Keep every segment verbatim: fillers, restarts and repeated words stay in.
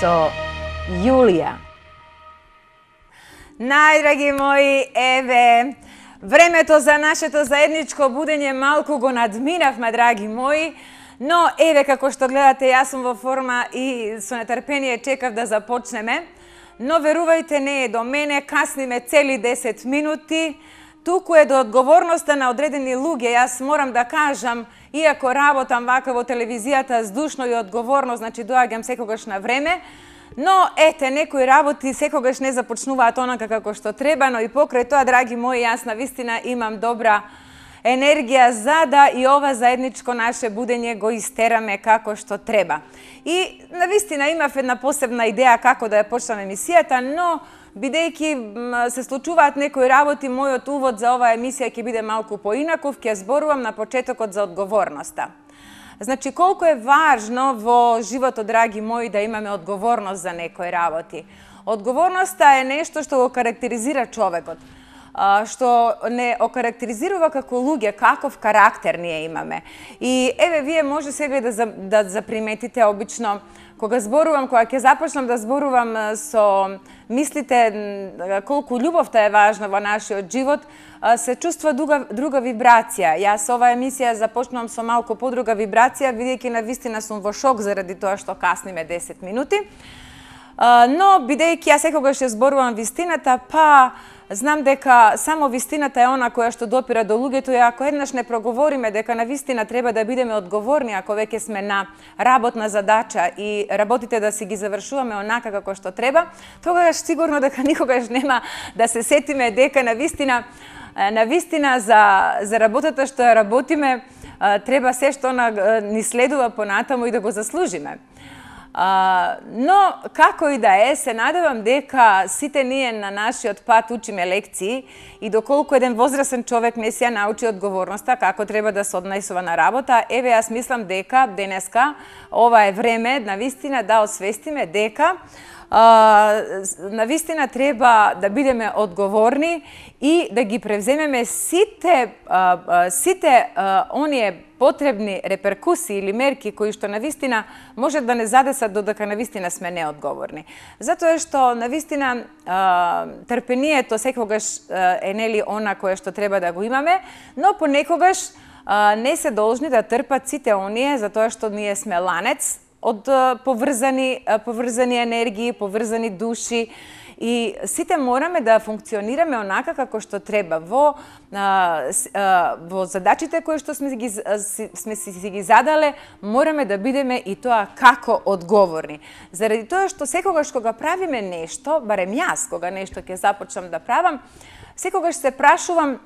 со Јулија. Најдраги мои, еве, времето за нашето заедничко будење малку го надминавме, драги мои, но еве како што гледате, јас сум во форма и со нетрпение чекав да започнеме, но верувајте, не е до мене, касниме цели десет минути, туку е до одговорноста на одредени луѓе. Јас морам да кажам, иако работам вака во телевизијата здушно и одговорно, значи доаѓам секогаш на време, но ете, некои работи секогаш не започнуваат онака како што треба, но и покрај тоа, драги мои, јас навистина имам добра енергија за да и ова заедничко наше будење го истераме како што треба. И навистина имав една посебна идеја како да ја почнам емисијата, но бидејќи се случуваат некои работи, мојот увод за оваа емисија ќе биде малку поинаков, ќе зборувам на почетокот за одговорноста. Значи, колку е важно во животот, драги мои, да имаме одговорност за некои работи. Одговорноста е нешто што го карактеризира човекот, што не окарактеризирува како луѓе, каков карактер ние имаме. И еве, вие може сега да, за, да заприметите, обично, кога зборувам, кога ќе започнам да зборувам со мислите колку љубовта е важна во нашиот живот, се чувства друга, друга вибрација. Јас оваа емисија започнувам со малку подруга вибрација, бидејќи навистина сум во шок заради тоа што касниме десет минути. Но бидејќи јас секогаш ја зборувам вистината, па знам дека само вистината е она која што допира до луѓето, и ако еднаш не проговориме дека навистина треба да бидеме одговорни, ако веќе сме на работна задача и работите да си ги завршуваме онака како што треба, тогаш сигурно дека никогаш нема да се сетиме дека навистина навистина за за работата што ја работиме треба се што ни следува понатаму и да го заслужиме. Uh, но, како и да е, се надевам дека сите ние на нашиот пат учиме лекции и доколку еден возрасен човек не се ја научи одговорноста, како треба да се однесува на работа, еве јас мислам дека денеска ова е време навистина да освестиме дека Uh, навистина треба да бидеме одговорни и да ги превземеме сите, uh, uh, сите uh, оние потребни реперкусии или мерки кои што навистина може да не задесат додека навистина сме неодговорни. Затоа што навистина uh, трпението секогаш uh, е нели она кое што треба да го имаме, но понекогаш uh, не се должни да трпат сите оние затоа што ние сме ланец од поврзани, поврзани енергии, поврзани души, и сите мораме да функционираме онака како што треба во во задачите кои што сме ги сме си ги задале, мораме да бидеме и тоа како одговорни. Заради тоа што секогаш кога правиме нешто, барем јас кога нешто ќе започнам да правам, секогаш се прашувам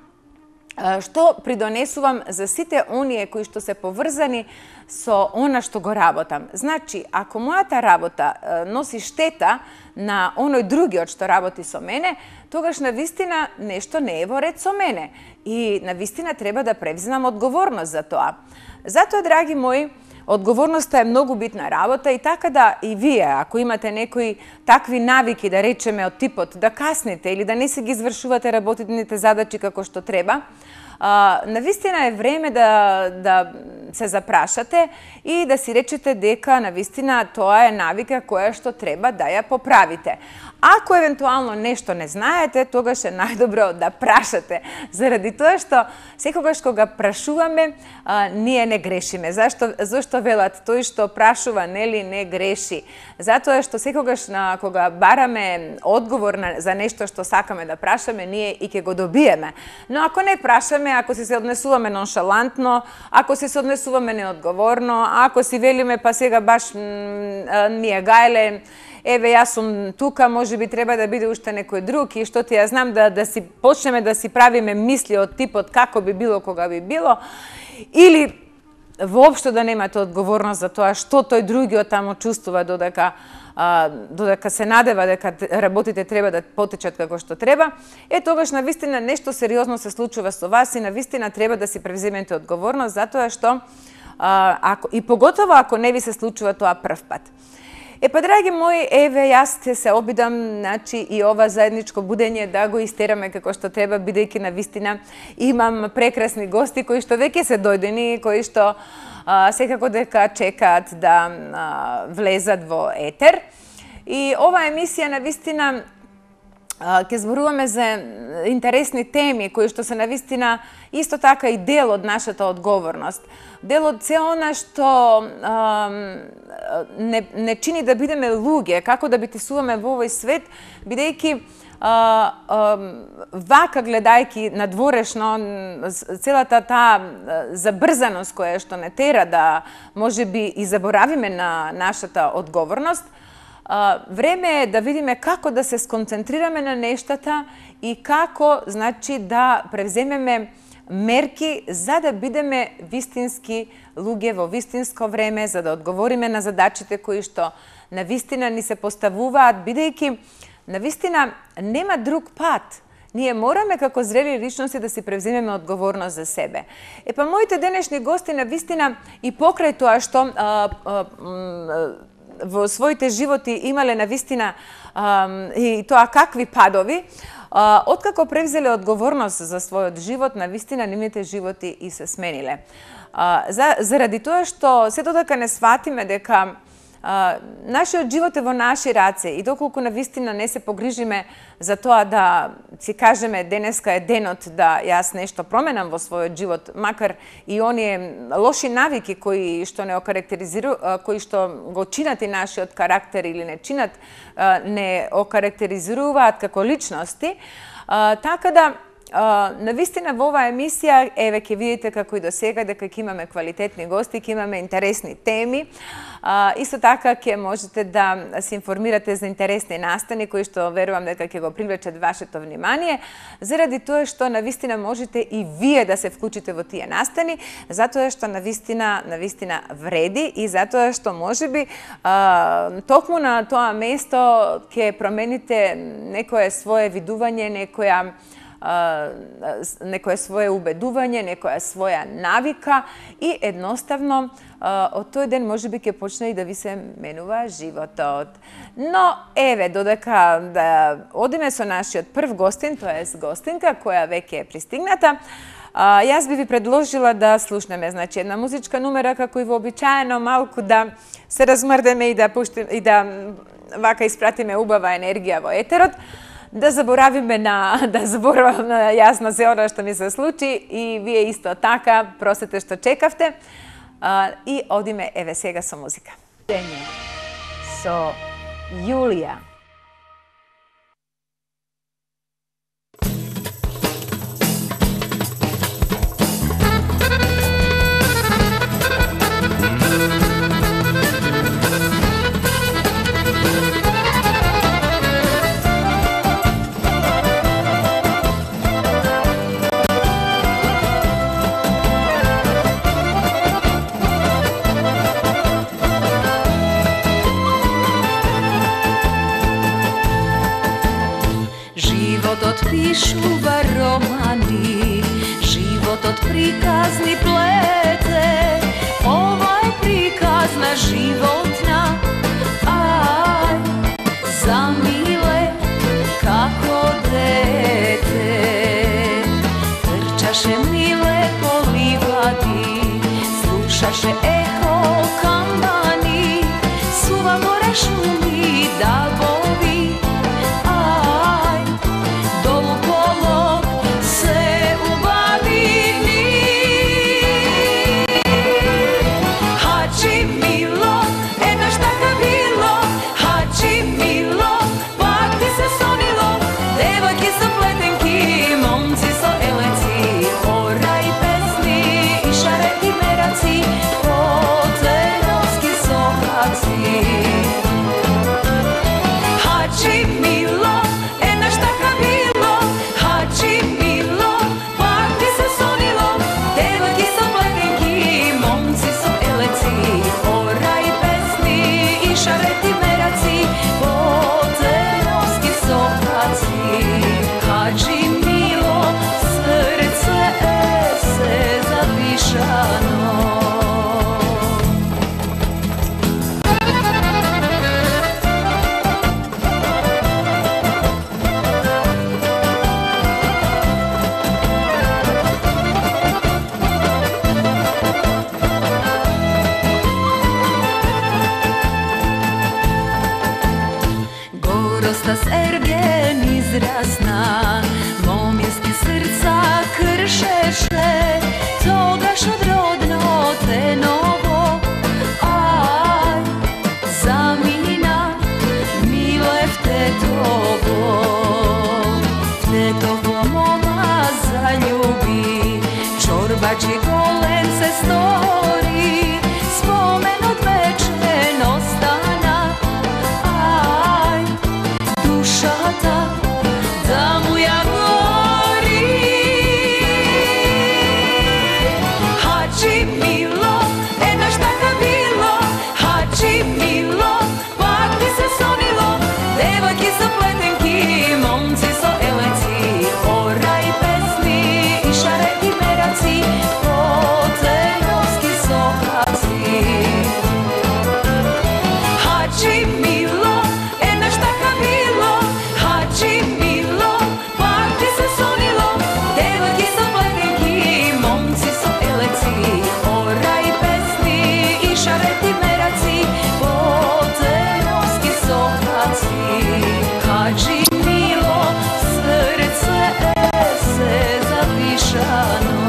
што придонесувам за сите оние кои што се поврзани со она што го работам. Значи, ако мојата работа носи штета на оној другиот што работи со мене, тогаш навистина нешто не е во ред со мене и навистина треба да превземам одговорност за тоа. Затоа, драги мои, одговорноста е многу битна работа и така да и вие, ако имате некои такви навики, да речеме од типот да касните или да не се ги извршувате работните задачи како што треба, Uh, навистина е време да, да се запрашате и да си речете дека навистина тоа е навика која што треба да ја поправите. Ако евентуално нешто не знаете, тогаш е најдобро да прашате, заради тоа што секогаш кога прашуваме, а, ние не грешиме. Зашто? Зашто велат тој што прашува, нели, не греши? Затоа што секогаш на, кога бараме одговор на, за нешто што сакаме да прашаме, ние и ќе го добиеме. Но ако не прашаме, ако си се однесуваме ноншалантно, ако си се однесуваме неодговорно, ако си велиме па сега баш ми е гајле, еве јас сум тука, може би треба да биде уште некој друг и што ти ја знам, да, да си почнеме да си правиме мисли од типот како би било кога би било, или воопшто да немате одговорност за тоа што тој другиот тамо чувствува додека а, додека се надева дека работите треба да потечат како што треба, е тогаш навистина нешто сериозно се случува со вас и навистина треба да си превземете одговорност затоа што а, ако, и поготово ако не ви се случува тоа прв пат. Е па, драги мои, еве, јас ќе се обидам, значи, и ова заедничко будење да го истераме како што треба, бидејќи навистина имам прекрасни гости кои што веќе се дојдени, кои што а, секако дека чекаат да а, влезат во етер. И ова емисија навистина ќе зборуваме за интересни теми кои што се навистина исто така и дел од нашата одговорност. Дел од се она што а, не, не чини да бидеме луѓе, како да битесуваме во овој свет, бидејќи а, а, вака гледајки надворешно целата таа забрзаност која што не тера да можеби и заборавиме на нашата одговорност, време е да видиме како да се сконцентрираме на нештата и како, значи, да превземеме мерки за да бидеме вистински луѓе во вистинско време, за да одговориме на задачите кои што навистина ни се поставуваат, бидејќи навистина нема друг пат. Ние мораме како зрели личности да си превземеме одговорност за себе. Е па моите денешни гости навистина и покрај тоа што а, а, а, во своите животи имале навистина а, и тоа какви падови, а, откако превзеле одговорност за својот живот, навистина нивните животи и се смениле. А, за, заради тоа што се додека не сватиме дека а, нашиот живот е во наши раце и доколку навистина не се погрижиме за тоа да си кажеме денеска е денот да јас нешто променам во својот живот, макар и оние лоши навики кои што не окарактеризиру, кои што го чинат и нашиот карактер или не чинат, не окарактеризираат како личности, така да Uh, навистина во оваа емисија, еве ќе видите како и до сега дека ќе имаме квалитетни гости, ќе имаме интересни теми. Uh, исто така ќе можете да се информирате за интересни настани кои што верувам дека ќе го привлечат вашето внимание, заради тоа што навистина можете и вие да се вклучите во тие настани, затоа што навистина навистина вреди и затоа што можеби uh, токму на тоа место ќе промените некое свое видување, некоја некое свое убедување, некоја своја навика и едноставно од тој ден можеби ќе почне и да ви се менува животот. Но еве, додека да одиме со нашиот прв гостин, тоа е гостинка која веќе е пристигната, јас би ви предложила да слушнеме, значи, една музичка нумера како и вообичаено, малку да се размрдеме и да пуштиме и да вака испратиме убава енергија во етерот. Да заборавиме на да заборавам на јасно се она што ми се случи и вие исто така, простете што чекавте. А, и одиме еве сега со музика. Со Јулија. Пишува романи, животот приказни плете, ова е приказ на животна, ај, замиле како дете, трчаше миле по ливади, слушаше ехо камбани, сува море шуми дабови, jasna, momjenski srca kršeše, togaš odrodno te novo. Aj, zamina, mile v tetovo, v tetovo moma zaljubi, čorbači golen se stori, spomen od večenog stana. Aj, duša ta, da mu ja gori. Hadži Milo, e na šta ka bilo, Hadži Milo, pak ti se sonilo, devojki su pletenki, momci su eleci, oraj pesmi i šareki meraci, potrenovski sokaci. Hadži Milo, e na šta ka bilo, Hadži Milo, pak ti se sonilo, devojki su pletenki, momci su eleci, oraj pesmi i šareki meraci, potrenovski sokaci. Hadži Milo, srce se zapišano.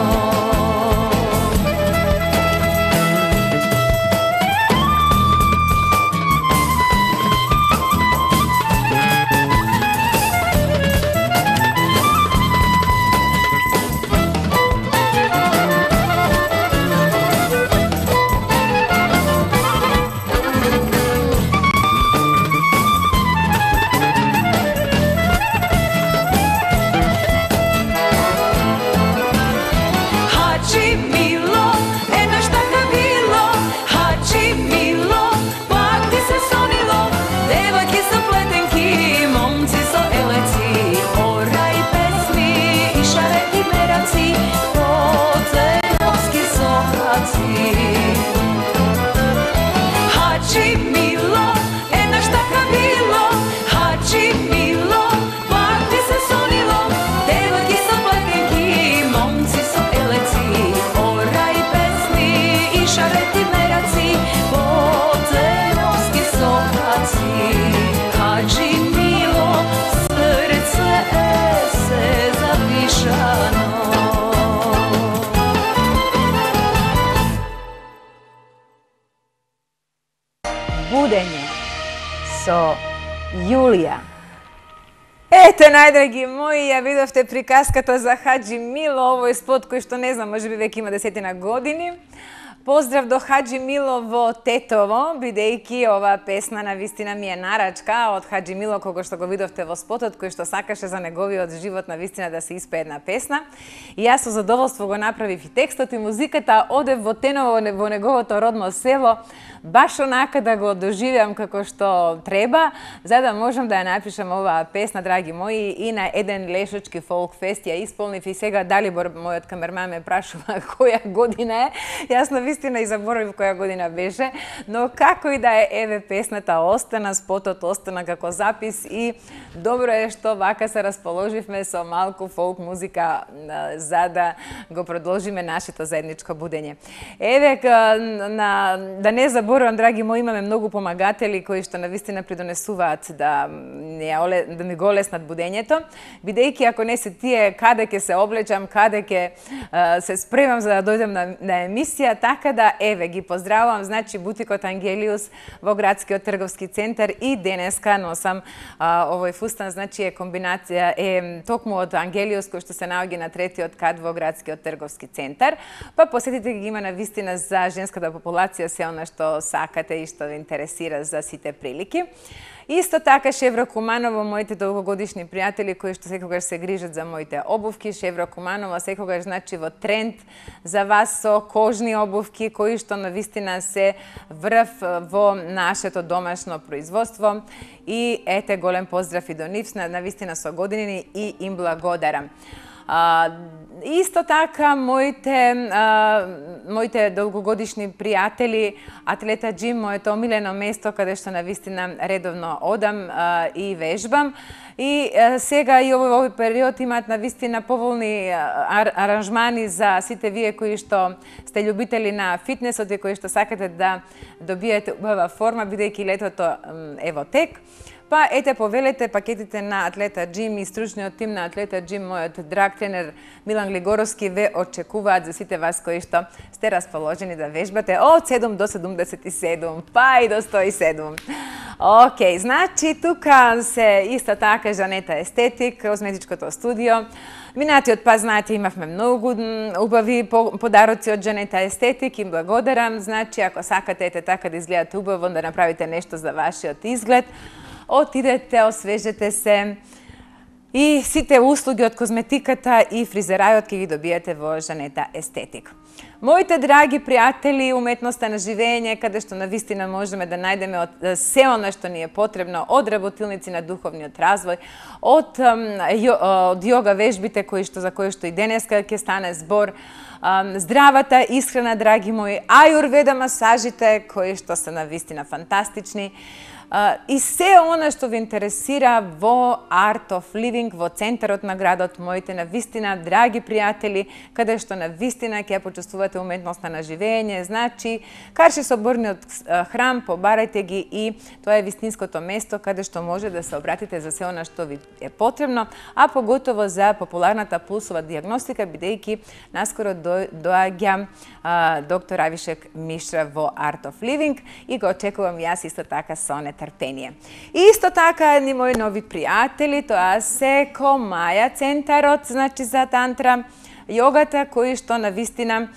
Hadži Milo, e na šta ka bilo, Hadži Milo, pak ti se sonilo, devojki su pletenki, momci su eleci, oraj pesmi i šareki meraci, potrenovski sokaci. Hadži Milo, e na šta ka bilo, Hadži Milo, pak ti se sonilo, devojki su pletenki, momci su eleci, oraj pesmi i šareki meraci, potrenovski sokaci. Hadži Milo, srce se zapišano. Budenje со Јулија. Ете, најдраги мои, ја видовте приказката за Hadži Milo, овој спот кој што не знам, можеби веќе има десетина години. Поздрав до Hadži Milo во Тетово, бидејќи оваа песна на вистина ми е нарачка од Hadži Milo, кога што го видовте во спотот, кој што сакаше за неговиот живот на вистина да се испее една песна. И јас со задоволство го направив и текстот и музиката, одев во Теново, во неговото родно село, баш онака да го доживеам како што треба, за да можам да ја напишам оваа песна, драги мои, и на еден лешочки фолк фест ја исполнив. И сега Далибор, мојот камерман, ме прашува која година е. Јас на вистина и заборавив која година беше, но како и да е, еве песната остана, спотот остана како запис и добро е што вака се расположивме со малку фолк музика за да го продолжиме нашето заедничко будење. Еве, на, да не заборавам, драги мои, имаме многу помагатели кои што навистина придонесуваат да, не, да ми го олеснат будењето, бидејќи ако не се тие каде ќе се облечам, каде ќе се спремам за да дојдем на, на емисија, така да, еве, ги поздравувам, значи, бутикот Ангелиус во градскиот трговски центар и денеска носам а, овој фустан, значи е комбинација, е токму од Ангелиус кој што се наоѓа на третиот кат во градскиот трговски центар. Па посетите ги, има на вистина за женската популација се она што сакате и што ве интересира за сите прилики. Исто така Шевро Куманово, моите долгогодишни пријатели кои што секогаш се грижат за моите обувки. Шевро Куманово секогаш значи во тренд за вас со кожни обувки кои што навистина се врв во нашето домашно производство. И ете, голем поздрав и до нив, навистина со години и им благодарам. А, исто така, моите, а, моите долгогодишни пријатели, Атлета Джим, моето омилено место каде што навистина редовно одам а, и вежбам. И а, сега и овој, овој период имаат навистина поволни ар, аранжмани за сите вие кои што сте љубители на фитнесот и кои што сакате да добиете убава форма, бидејќи летото е во тек. Па ете повелете пакетите на Атлета Джим и стручниот тим на Атлета Джим, мојот драг тренер Милан Глигоровски ве очекуваат за сите вас кои што сте расположени да вежбате од седум до седумдесет и седум, па и до сто и седум. Океј, значи тука се исто така Жанета Естетик, козметичкото студио. Минатиот пат, знаете, имавме многу убави подароци од Жанета Естетик, им благодарам. Значи, ако сакате ете така да изгледате убаво, да направите нешто за вашиот изглед, отидете, освежете се и сите услуги од козметиката и фризерајот ќе ги добиете во Жанета Естетик. Моите драги пријатели, уметноста на живење, каде што навистина можеме да најдеме од се она што ни е потребно, од работилници на духовниот развој, од, од јога вежбите кои што за кои што и денеска ќе стане збор, здравата исхрана, драги мои, ајурведа масажите кои што се навистина фантастични, и се она што ви интересира во Art of Living, во центарот на градот, моите навистина драги пријатели, каде што навистина ќе почувствувате уметноста на живење, значи Карши соборниот храм, побарајте ги и тоа е вистинското место каде што може да се обратите за се она што ви е потребно, а поготово за популарната пулсова диагностика, бидејќи наскоро доаѓа доктор Авишек Мишра во Art of Living и го очекувам јас исто така со нетрпение. И исто така едни мои нови пријатели, тоа се Комаја центарот, значи за тантра, јогата, кои што навистина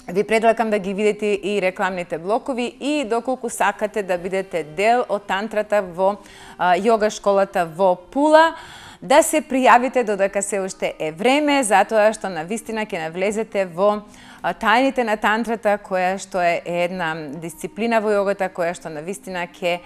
ви предлагам да ги видите и рекламните блокови и доколку сакате да бидете дел од тантрата во јога школата во Пула, да се пријавите додека се уште е време, затоа што навистина ќе навлезете во тајните на тантрата, која што е една дисциплина во јогата, која што навистина ќе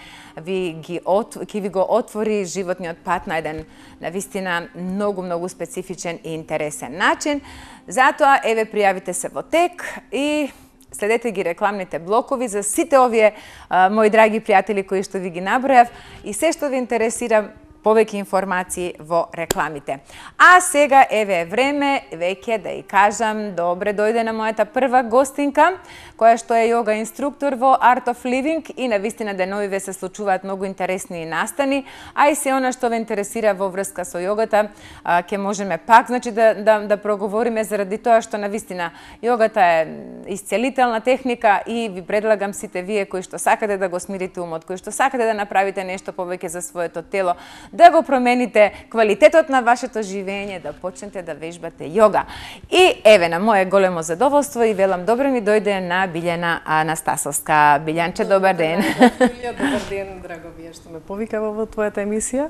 ви, ги от, ќе ви го отвори животниот пат на еден навистина многу, многу специфичен и интересен начин. Затоа, еве, пријавите се во тек и следете ги рекламните блокови за сите овие а, мои драги пријатели кои што ви ги набројав и се што ви интересира, повеќе информации во рекламите. А сега еве е време веќе да и кажам добре дојде на мојата прва гостинка, која што е јога инструктор во Art of Living и навистина деновиве се случуваат многу интересни настани, а и се она што ве интересира во врска со јогата, ќе можеме пак значи да да да проговориме заради тоа што навистина јогата е исцелителна техника и ви предлагам сите вие кои што сакате да го смирите умот, кои што сакате да направите нешто повеќе за своето тело, да го промените квалитетот на вашето живење, да почнете да вежбате јога. И еве на моје големо задоволство и велам добре ми дојде на Билјана Анастасовска. Билјанче, добар ден. Добар ден, драго вие што ме повикава во твојата емисија.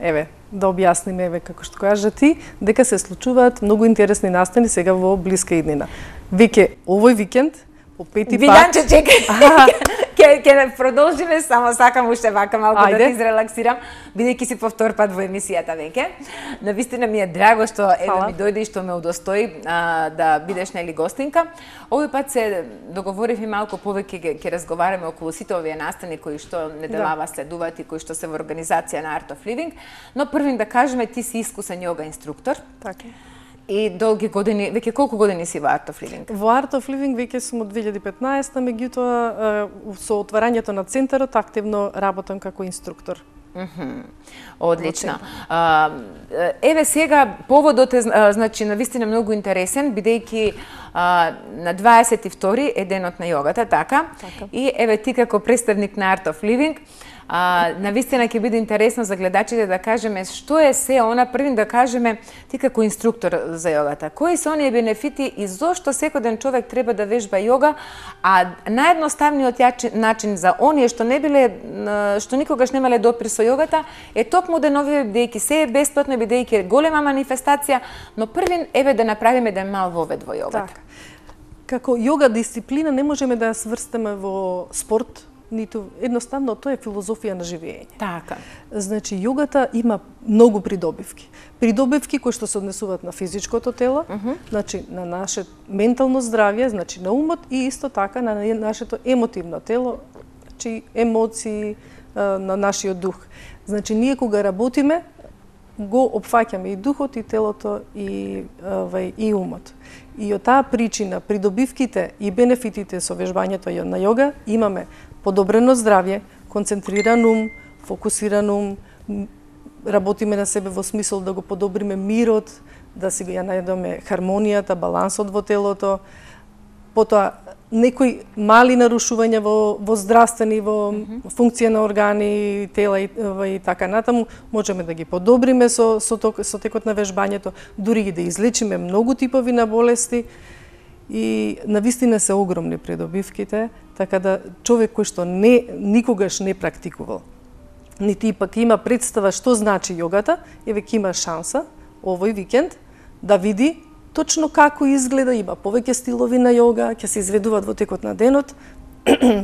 Еве, да објасниме, еве, како што кажа ти, дека се случуваат многу интересни настани сега во блиска иднина. Веќе овој викенд, по пети пат... Билјанче, чекај. Ке, ке продолжиме, само сакам уште вака малку Ајде. Да ти изрелаксирам, бидејќи си по втор пат во емисијата веќе. Навистина ми е драго што еве ми дојде и што ме удостои а, да бидеш нели гостинка. Овој пат се договоривме малку повеќе ќе разговараме околу сите овие настани кои што неделава да. Следуваат и кои што се во организација на Art of Living, но првин да кажеме ти си искусен јога инструктор. Така. И долги години, веќе колку години си во Art of Living? Во Art of Living веќе сум од две илјади и петнаесета, меѓутоа со отварањето на центарот активно работам како инструктор. Mm-hmm. Одлично. А, еве сега поводот е значи навистина многу интересен, бидејќи на дваесет и втори е денот на јогата, така? Така. И еве ти како представник на Art of Living, А, навистина ќе биде интересно за гледачите да кажеме што е се она, првин да кажеме ти како инструктор за јогата. Кои се оние бенефити и зошто секој ден човек треба да вежба јога, а наједноставниот начин за оние што не биле што никогаш немале допир со јогата е токму деновиве, бидејќи се е бесплатно, бидејќи е голема манифестација, но првин еве да направиме еден мал вовед во јогата. Так. Како јога дисциплина не можеме да ја сврстаме во спорт, ниту едноставно тоа е филозофија на живење. Така. Значи јогата има многу придобивки. Придобивки кои што се однесуваат на физичкото тело, uh -huh. значи на наше ментално здравје, значи на умот и исто така на нашето емотивно тело, значи емоции, на нашиот дух. Значи ние кога работиме го опфаќаме и духот и телото и вај и умот. И од таа причина придобивките и бенефитите со вежбањето на јога имаме подобрено здравје, концентриран ум, фокусиран ум, работиме на себе во смисол да го подобриме мирот, да си ја најдеме хармонијата, балансот во телото. Потоа некои мали нарушувања во, во здравствени, во mm -hmm. функција на органи, тела и, и така натаму, можеме да ги подобриме со, со, ток, со текот на вежбањето, дури и да излечиме многу типови на болести. И навистина се огромни придобивките, така да човек кој што не, никогаш не практикувал, нити и пак има представа што значи јогата, еве ќе има шанса овој викенд да види точно како изгледа, има повеќе стилови на јога, ќе се изведуваат во текот на денот,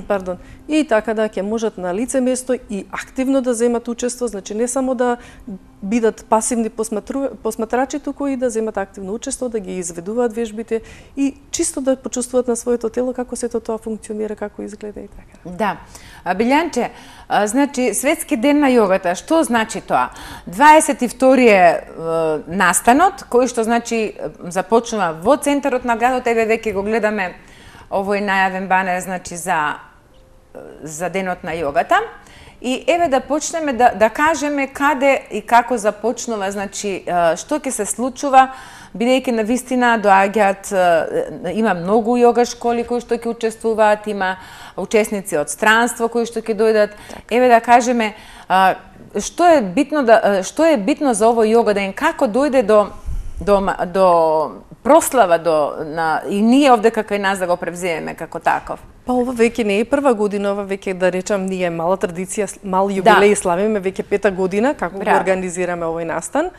пардон, и така да ќе можат на лице место и активно да земат учество, значи не само да бидат пасивни посматрачи, туку и да земат активно учество, да ги изведуваат вежбите и чисто да почувствуваат на своето тело како сето тоа функционира, како изгледа и така. Да. Билјанче, значи светски ден на јогата, што значи тоа? дваесет и втори е настанот, кој што значи започнува во центарот на градот, еве веќе го гледаме овој најавен банер, значи за за денот на јогата. И еве да почнеме да да кажеме каде и како започнува, значи што ќе се случува, бидејќи навистина доаѓаат, има многу јога школи кои што ќе учествуваат, има учесници од странство кои што ќе дојдат. Еве да кажеме што е битно да што е битно за овој јога ден, како дојде до до до прослава до на и ние овде како и нас да го превземеме како таков. Па ова веќе не е прва година, ова веќе да речам ние мала традиција, мал јубилеј да. Славиме веќе пета година како Браво. Го организираме овој настан.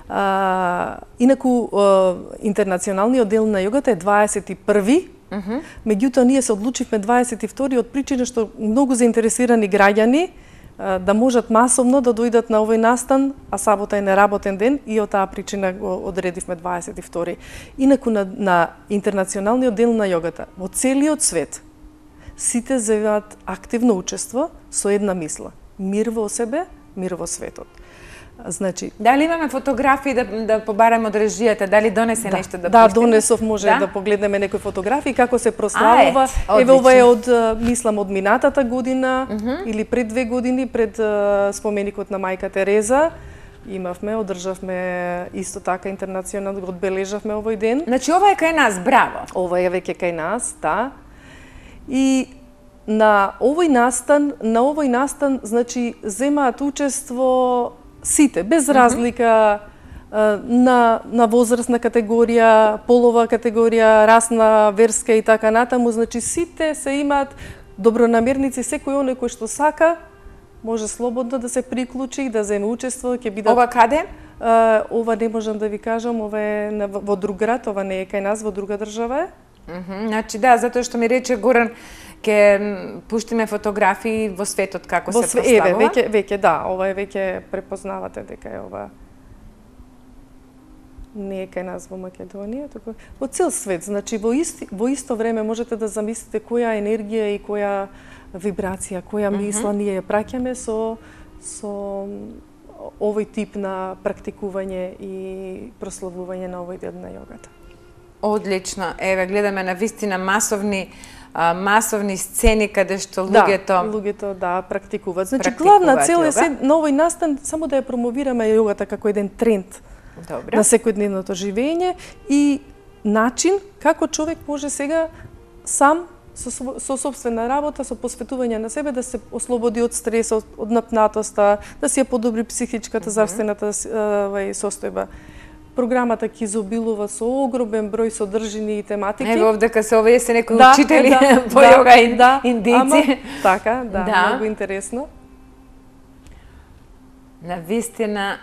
А, инаку а, интернационалниот дел на јогата е дваесет и први. Uh -huh. Меѓутоа ние се одлучивме дваесет и втори од причина што многу заинтересирани граѓани да можат масовно да дојдат на овој настан, а сабота е неработен ден и од таа причина го одредивме дваесет и втори. Инаку на, на интернационалниот дел на јогата во целиот свет сите земаат активно учество со една мисла: мир во себе, мир во светот. Значи, дали имаме фотографии да, да побараме од режијата, дали донесе да, нешто да Да, пуштиме? донесов, може да? Да погледнеме некои фотографии како се прославува. А, еве ова е од мислам од минатата година uh -huh. или пред две години, пред uh, споменикот на мајка Тереза. Имавме, одржавме исто така интернационално, го одбележавме овој ден. Значи ова е кај нас, браво. Ова е веќе кај нас, да. И на овој настан, на овој настан, значи земаат учество сите, без разлика uh -huh. на, на возрастна категорија, полова категорија, расна, верска и така натаму. Значи сите се имаат добронамерници, секој оној кој што сака може слободно да се приклучи и да земе учество. Ќе бидат... Ова каде? Uh, ова не можам да ви кажам, ова е на, во друг град, ова не е кај нас, во друга држава е. Uh -huh. Значи да, затоа што ми рече Горан, ќе пуштиме фотографии во светот како во се све... прославува. Еве, веќе, веќе, да, ова е веќе препознавате дека е ова не е кај нас во Македонија, туку во цел свет. Значи во, исти, во исто време можете да замислите која енергија и која вибрација, која мисла uh -huh. ние ја праќаме со, со овој тип на практикување и прославување на овој ден на јогата. Одлично. Еве, гледаме на вистина масовни а, масовни сцени каде што луѓето да, луѓето да практикуваат. Значи главна цел е се на овој настан само да ја промовираме јогата како еден тренд. Добре. На секојдневното живење и начин како човек може сега сам со, со собствена работа, со посветување на себе да се ослободи од стресот, од напнатоста, да си ја подобри психичката, mm -hmm. здравствената uh, состојба. Програмата ќе изобилува со огромен број содржини и тематики. Ево овдека се овие се некои да, учители да, по да, јога и да, индици. Ама, така, да, да, многу интересно. На вистина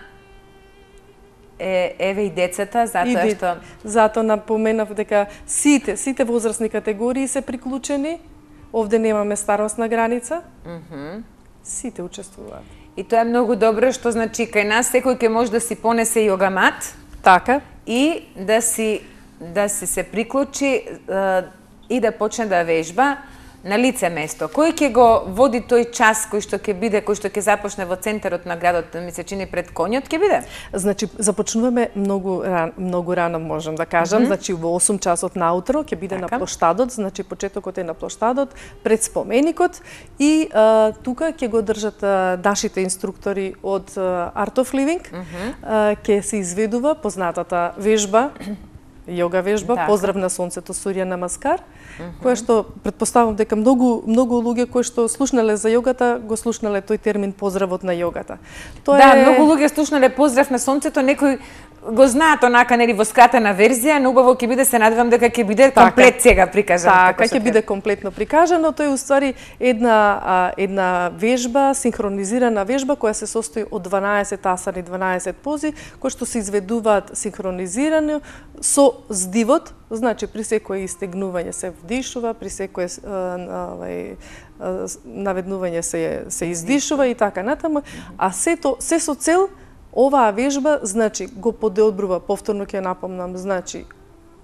е, еве и децата, затоа и што... Затоа напоменав дека сите, сите возрастни категории се приклучени. Овде немаме старосна граница. Mm -hmm. Сите учествуваат. И тоа е многу добро, што значи кај нас секој ќе може да си понесе јога мат. Така. И да си да си се приклучи е, и да почне да вежба. на лице место. Кој ќе го води тој час кој што ќе биде, кој што ќе започне во центарот на градот, ми се чини пред конјот ќе биде? Значи започнуваме многу рано, многу рано можам да кажам, mm -hmm. значи во осум часот наутро ќе биде така на плоштадот, значи почетокот е на плоштадот пред споменикот и а, тука ќе го држат а, нашите инструктори од а, Art of Living, mm -hmm. а, ќе се изведува познатата вежба, јога вежба, така. Поздрав на сонцето, Сурја Намаскар, mm -hmm. која што претпоставам дека многу многу луѓе кои што слушнале за јогата го слушнале тој термин поздравот на јогата. Тоа да, е... многу луѓе слушнале поздрав на сонцето, некој го знаат онака нели во скратена верзија, но убаво ќе биде, се надевам дека ќе биде така, комплет сега прикажано. Така, ќе биде комплетно прикажано, тоа е уствари една а, една вежба, синхронизирана вежба која се состои од дванаесет асани, дванаесет пози, кои што се изведуваат синхронизирано со здивот, значи при секое истегнување се вдишува, при секое овај наведнување се се издишува и така натаму, а сето се со цел оваа вежба, значи, го подобрува, повторно ќе напомнам, значи,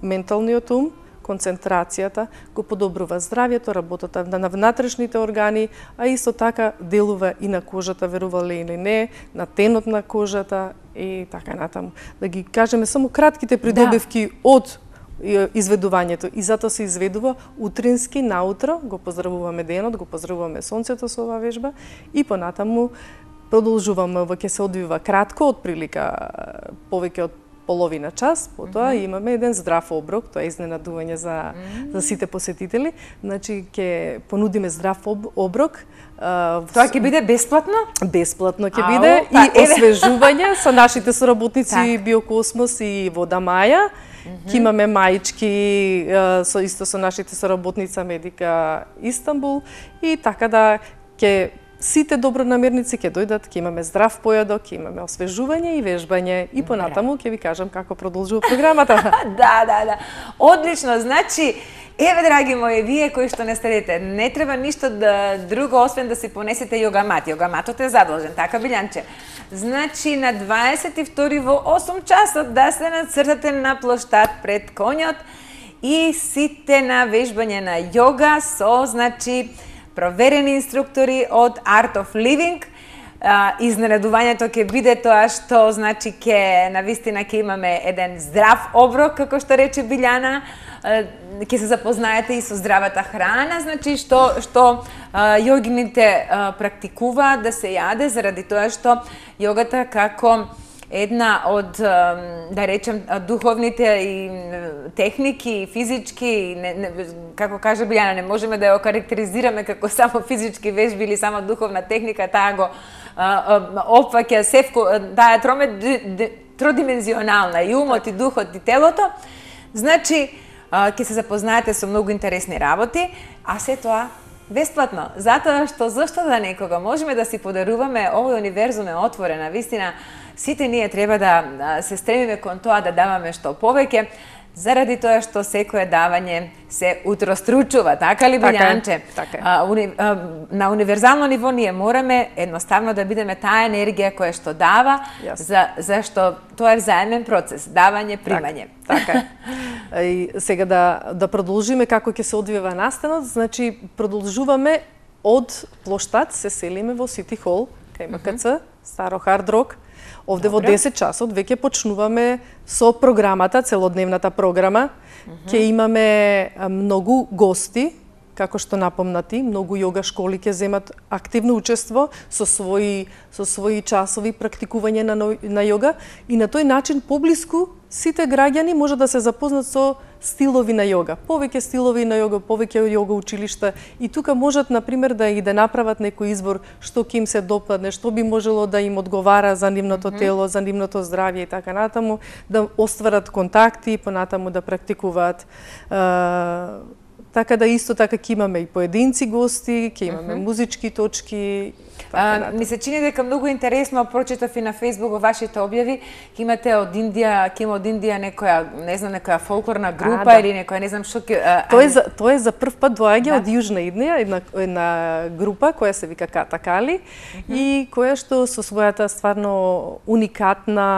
менталниот ум, концентрацијата, го подобрува здравјето, работата на внатрешните органи, а исто така делува и на кожата, верувале или не, на тенот на кожата и така натаму. Да ги кажеме само кратките придобивки да. Од изведувањето и затоа се изведува утрински наутро, го поздравуваме денот, го поздравуваме сонцето со оваа вежба и понатаму продолжуваме, ќе се одвива кратко, од прилика повеќе од половина час, потоа mm -hmm. имаме еден здрав оброк, тоа е изненадување за, mm -hmm. за сите посетители, значи ќе понудиме здрав об, оброк. Uh, Тоа ќе биде бесплатно? Бесплатно ќе биде па, и освежување со нашите соработници Биокосмос и Вода Маја. Mm -hmm. Ќе имаме маички со исто со нашите соработница Медика Истанбул и така да ќе сите добронамерници ќе дојдат, ќе имаме здрав појадок, ќе имаме освежување и вежбање и понатаму ќе ви кажам како продолжува програмата. Да, да, да. Одлично, значи еве, драги мои, вие кои што не следите, не треба ништо да друго освен да си понесете јогамат. Јогаматот е задолжен, така Билјанче. Значи на дваесет и втори во осум часот да се нацртате на плоштад пред конјот и сите на вежбање на јога со, значи, проверени инструктори од Art of Living. Изненадувањето ќе биде тоа што, значи, ќе навистина ќе имаме еден здрав оброк, како што рече Билјана, ќе се запознаете и со здравата храна, значи што што јогините практикуваат да се јаде заради тоа што јогата како една од, да речем, духовните и техники и физички, не, не, како каже Билјана, не можеме да ја окарактеризираме како само физички вежби или само духовна техника, таа го опфаќа севко, таа е тродимензионална, и умот, и духот, и телото. Значи, ќе се запознаете со многу интересни работи, а се тоа бесплатно. Затоа што зашто да некога можеме да си подаруваме, овој универзум е отворен, на вистина сите ние треба да се стремиме кон тоа да даваме што повеќе, заради тоа што секое давање се утростручува, така ли, Билјанче? Така е. А, уни, а, на универзално ниво ние мораме едноставно да бидеме таа енергија која што дава, за, зашто тоа е взаемен процес, давање, примање. Така, така е. И сега да, да продолжиме како ќе се одвива настанот, значи продолжуваме од плоштад, се селиме во Сити Хол, кај М К Ц, Старо Хард Рок. Овде во десет часот веќе почнуваме со програмата, целодневната програма. Mm -hmm. Ќе имаме многу гости, како што напомнати, многу јога школи ќе земат активно учество со своји со своји часови практикување на на јога и на тој начин поблиску сите граѓани може да се запознат со стилови на јога. Повеќе стилови на јога, повеќе јога училишта и тука можат на пример да и да направат некој избор што ќе им се допадне, што би можело да им одговара за нивното тело, за нивното здравје и така натаму, да остварат контакти и понатаму да практикуваат. Така да исто така ќе имаме и поединци гости, ќе имаме uh -huh. музички точки А, ми се чини дека многу интересно прочитав и на Facebook во вашите објави, ќе имате од Индија, ќе има од Индија некоја, не знам, некоја фолклорна група а, да. или некоја не знам што ќе Тоа е за тоа е за прв пат доаѓа да. од Јужна Индија, една една група која се вика Катакали mm -hmm. и која што со својата стварно уникатна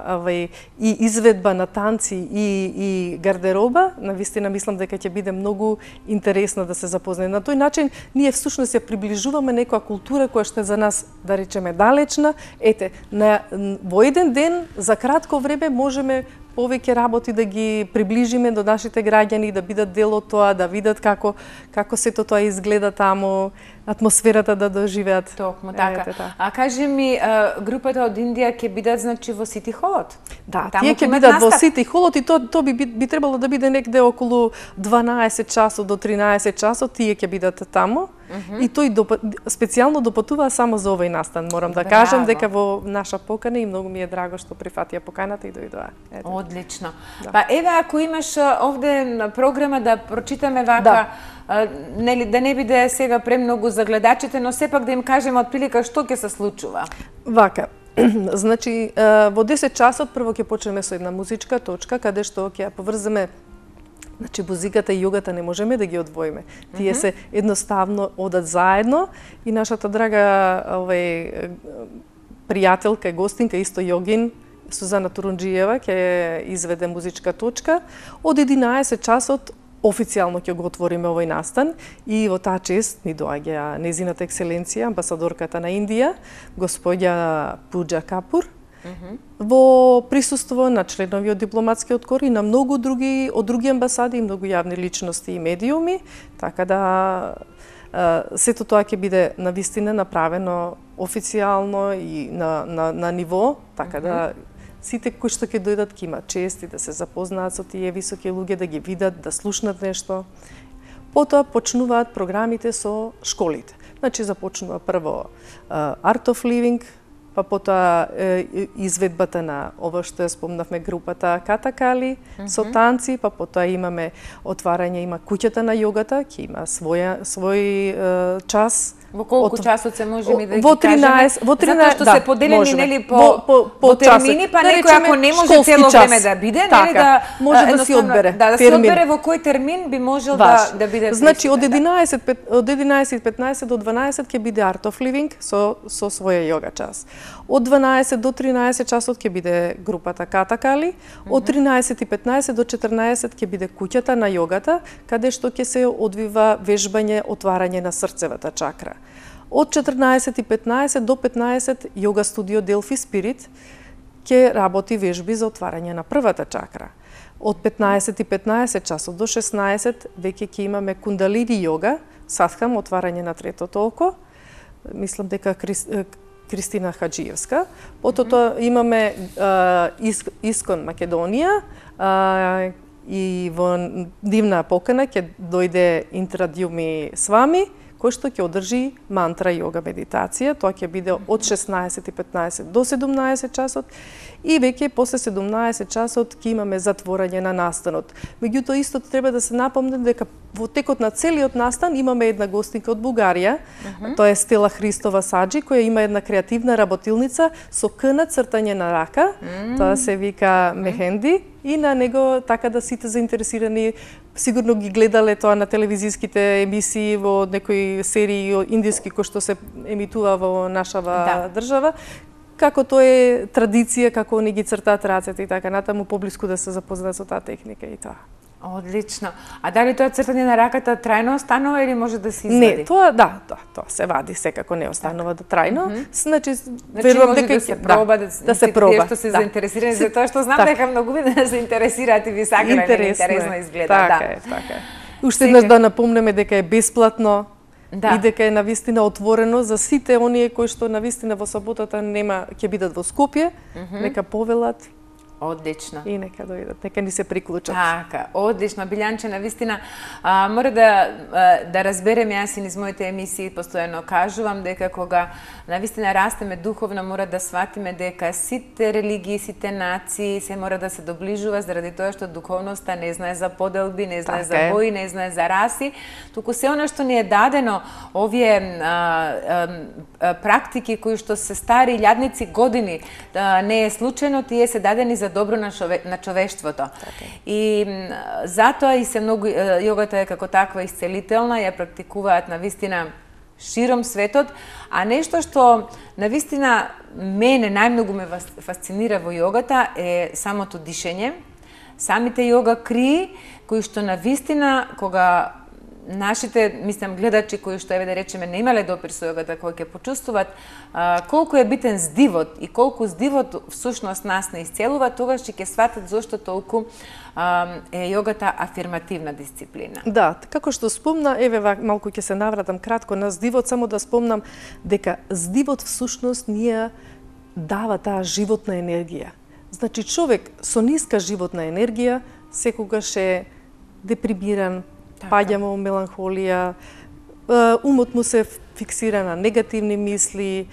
авај и изведба на танци и и гардероба, навистина мислам дека ќе биде многу интересно да се запознае. На тој начин ние всушност ја приближуваме некоја култура која што е за нас, да речеме, далечна. Ете, на во еден ден за кратко време можеме повеќе работи да ги приближиме до нашите граѓани, да бидат дел од тоа, да видат како како сето тоа изгледа таму, атмосферата да доживеат. Токму така. Ете, та. А кажи ми, групата од Индија ќе бидат значи во Сити Холот? Да, таму тие ќе бидат настап? во Сити Холот и тоа то би би требало да биде некде околу дванаесет часот до тринаесет часот, тие ќе бидат таму. Mm -hmm. И тој доп... специјално допатува само за овој настан. Морам да Браво. кажам дека во наша покана и многу ми е драго што прифатија поканата и дојдоа. Одлично. Да. Па еве ако имаш овде на програма да прочитаме вака, да. А, нели да не биде сега премногу за гледачите, но сепак да им кажеме отприлика што ќе се случува. Вака. Значи во десет часот прво ќе почнеме со една музичка точка каде што ќе ја поврземе. Значи, музиката и јогата не можеме да ги одвоиме. Тие mm -hmm. се едноставно одат заедно и нашата драга овај пријателка и гостинка, исто јогин, Сузана Турунџиева, ќе изведе музичка точка. Од единаесет часот официјално ќе го отвориме овој настан и во таа чест ни доаѓа незината екселенција, амбасадорката на Индија, господја Пуџа Капур, Mm -hmm. во присуство на членови од дипломатскиот кор и на многу други од други амбасади и многу јавни личности и медиуми, така да сето тоа ќе биде навистина направено официјално и на на на ниво, така mm -hmm. да сите кои што ќе дојдат ќе имаат чест и да се запознаат со тие високи луѓе, да ги видат, да слушнат нешто. Потоа почнуваат програмите со школите. Значи започнува прво uh, Art of Living, па потоа е, изведбата на ова што ја спомнавме групата Катакали mm -hmm. со танци, па потоа имаме отварање, има куќата на јогата, ќе има своја свој е, час. Во колку от... часот се можеме да ги во тринаесет, кажеме? Во тринаесет, затоа што да, се поделени можеме. нели по во, по, по, по термини, па да некој ако не може цело час. време да биде, така, нели да може да си одбере. Да, да си одбере во кој термин би можел Ваш. да да биде. Значи од единаесет од единаесет и петнаесет до дванаесет ќе биде Art of Living со со своја јога час. Од дванаесет до тринаесет часот ќе биде групата Катакали, од тринаесет и петнаесет до четрнаесет ќе биде куќата на јогата, каде што ќе се одвива вежбање, отварање на срцевата чакра. Од четрнаесет и петнаесет до петнаесет јога студио Delphi Spirit ќе работи вежби за отварање на првата чакра. Од петнаесет и петнаесет часот до шеснаесет веќе ќе имаме кундалини јога, садхам, отварање на третото око. Мислам дека Крис, Кристина Хаджиевска. Потоа mm -hmm. имаме uh, Искон Македонија uh, и во дивна покана ќе дојде Интрадјуми Свами, кој што ќе одржи мантра јога медитација. Тоа ќе биде од шеснаесет и петнаесет до седумнаесет часот и веќе после седумнаесет часот ќе имаме затворање на настанот. Меѓутоа исто треба да се напомне дека во текот на целиот настан имаме една гостинка од Бугарија, uh -huh. тоа е Стела Христова Саджи, која има една креативна работилница со кна цртање на рака, uh -huh. тоа се вика мехенди, и на него така да сите заинтересирани сигурно ги гледале тоа на телевизиските емисии во некои серии индиски кои што се емитува во нашава да. држава, како тоа е традиција, како они ги цртаат рацете и така натаму, поблиску да се запознаат со таа техника и тоа. Одлично. А дали тоа цртање на раката трајно останува или може да се извади? Не, тоа да, тоа, тоа се вади, секако не останува да трајно. Mm -hmm. Значи, значи верувам дека да се проба, да, да се проба. Тие што се да. заинтересирани за тоа, што знам так. дека многу ви да се интересираат и ви сакале, интересно, интересно изгледа. Така да. е, така е. Уште еднаш да напомнеме дека е бесплатно. Да. И дека е навистина отворено за сите оние кои што навистина во саботата нема ќе бидат во Скопје, mm -hmm. нека повелат Одлично. И нека дојдат, нека ни се приклучат. Така, одлично. Билјанче, навистина, а, мора да, а, да разберем, јас и низ моите емисии постојано кажувам дека кога навистина растеме духовно, мора да сватиме дека сите религии, сите нации се мора да се доближува заради тоа што духовноста не знае за поделби, не знае Така за е. бои, не знае за раси, туку се оно што ни е дадено, овие а, а, а, практики кои што се стари илјадници години, а, не е случајно, тие се дадени за добро на, шове, на човештвото. Така. И м, затоа и се многу јогата е како таква исцелителна, ја практикуваат навистина широм светот, а нешто што навистина мене најмногу ме фасцинира во јогата е самото дишење, самите јога крии кои што навистина кога нашите, мислам, гледачи кои што еве да речеме не имале допир со јогата, кои ќе почувствуваат а, колку е битен здивот и колку здивот всушност нас не исцелува, тогаш ќе сватат зошто толку а, е јогата афирмативна дисциплина. Да, како што спомна, еве малку ќе се навратам кратко на здивот, само да спомнам дека здивот всушност ние дава таа животна енергија. Значи човек со ниска животна енергија секогаш е депримиран, паѓа во меланхолија, умот му се фиксира на негативни мисли,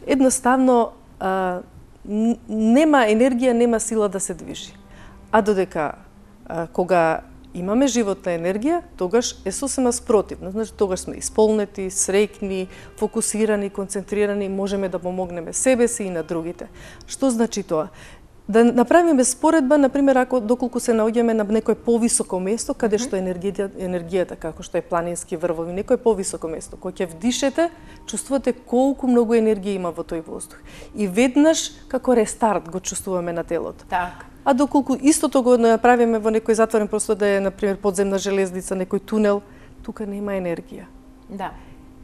едноставно нема енергија, нема сила да се движи. А додека кога имаме животна енергија, тогаш е сосема спротивно. Значи, тогаш сме исполнети, среќни, фокусирани, концентрирани, можеме да помогнеме себе си и на другите. Што значи тоа? Да направиме споредба, например, ако доколку се наоѓаме на некој повисоко место, каде што енергијата, енергијата како што е планински врвови, некој повисоко место, кога ќе вдишете, чувствувате колку многу енергија има во тој воздух. И веднаш како рестарт го чувствуваме на телото. Така. А доколку истото го направиме во некој затворен простор, да е, например, подземна железница, некој тунел, тука нема енергија. Да.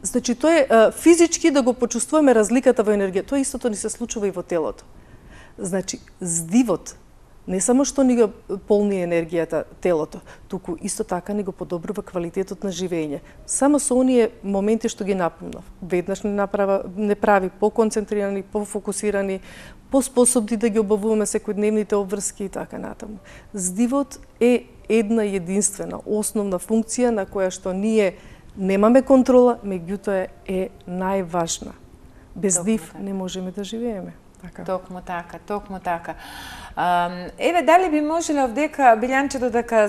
Значи, тоа е а, физички да го почувствуваме разликата во енергија. Тоа истото ни се случува и во телото. Значи, здивот не само што ни го полни енергијата телото, туку исто така ни го подобрува квалитетот на живење. Само со оние моменти што ги напомнав, веднаш не направа, не прави поконцентрирани, пофокусирани, поспособни да ги обавуваме секојдневните обврски и така натаму. Здивот е една единствена, основна функција на која што ние немаме контрола, меѓутоа е најважна. Без здив не можеме да живееме. Така. Токму така, токму така. А, еве, дали би можеле овдека, Билјанче, додека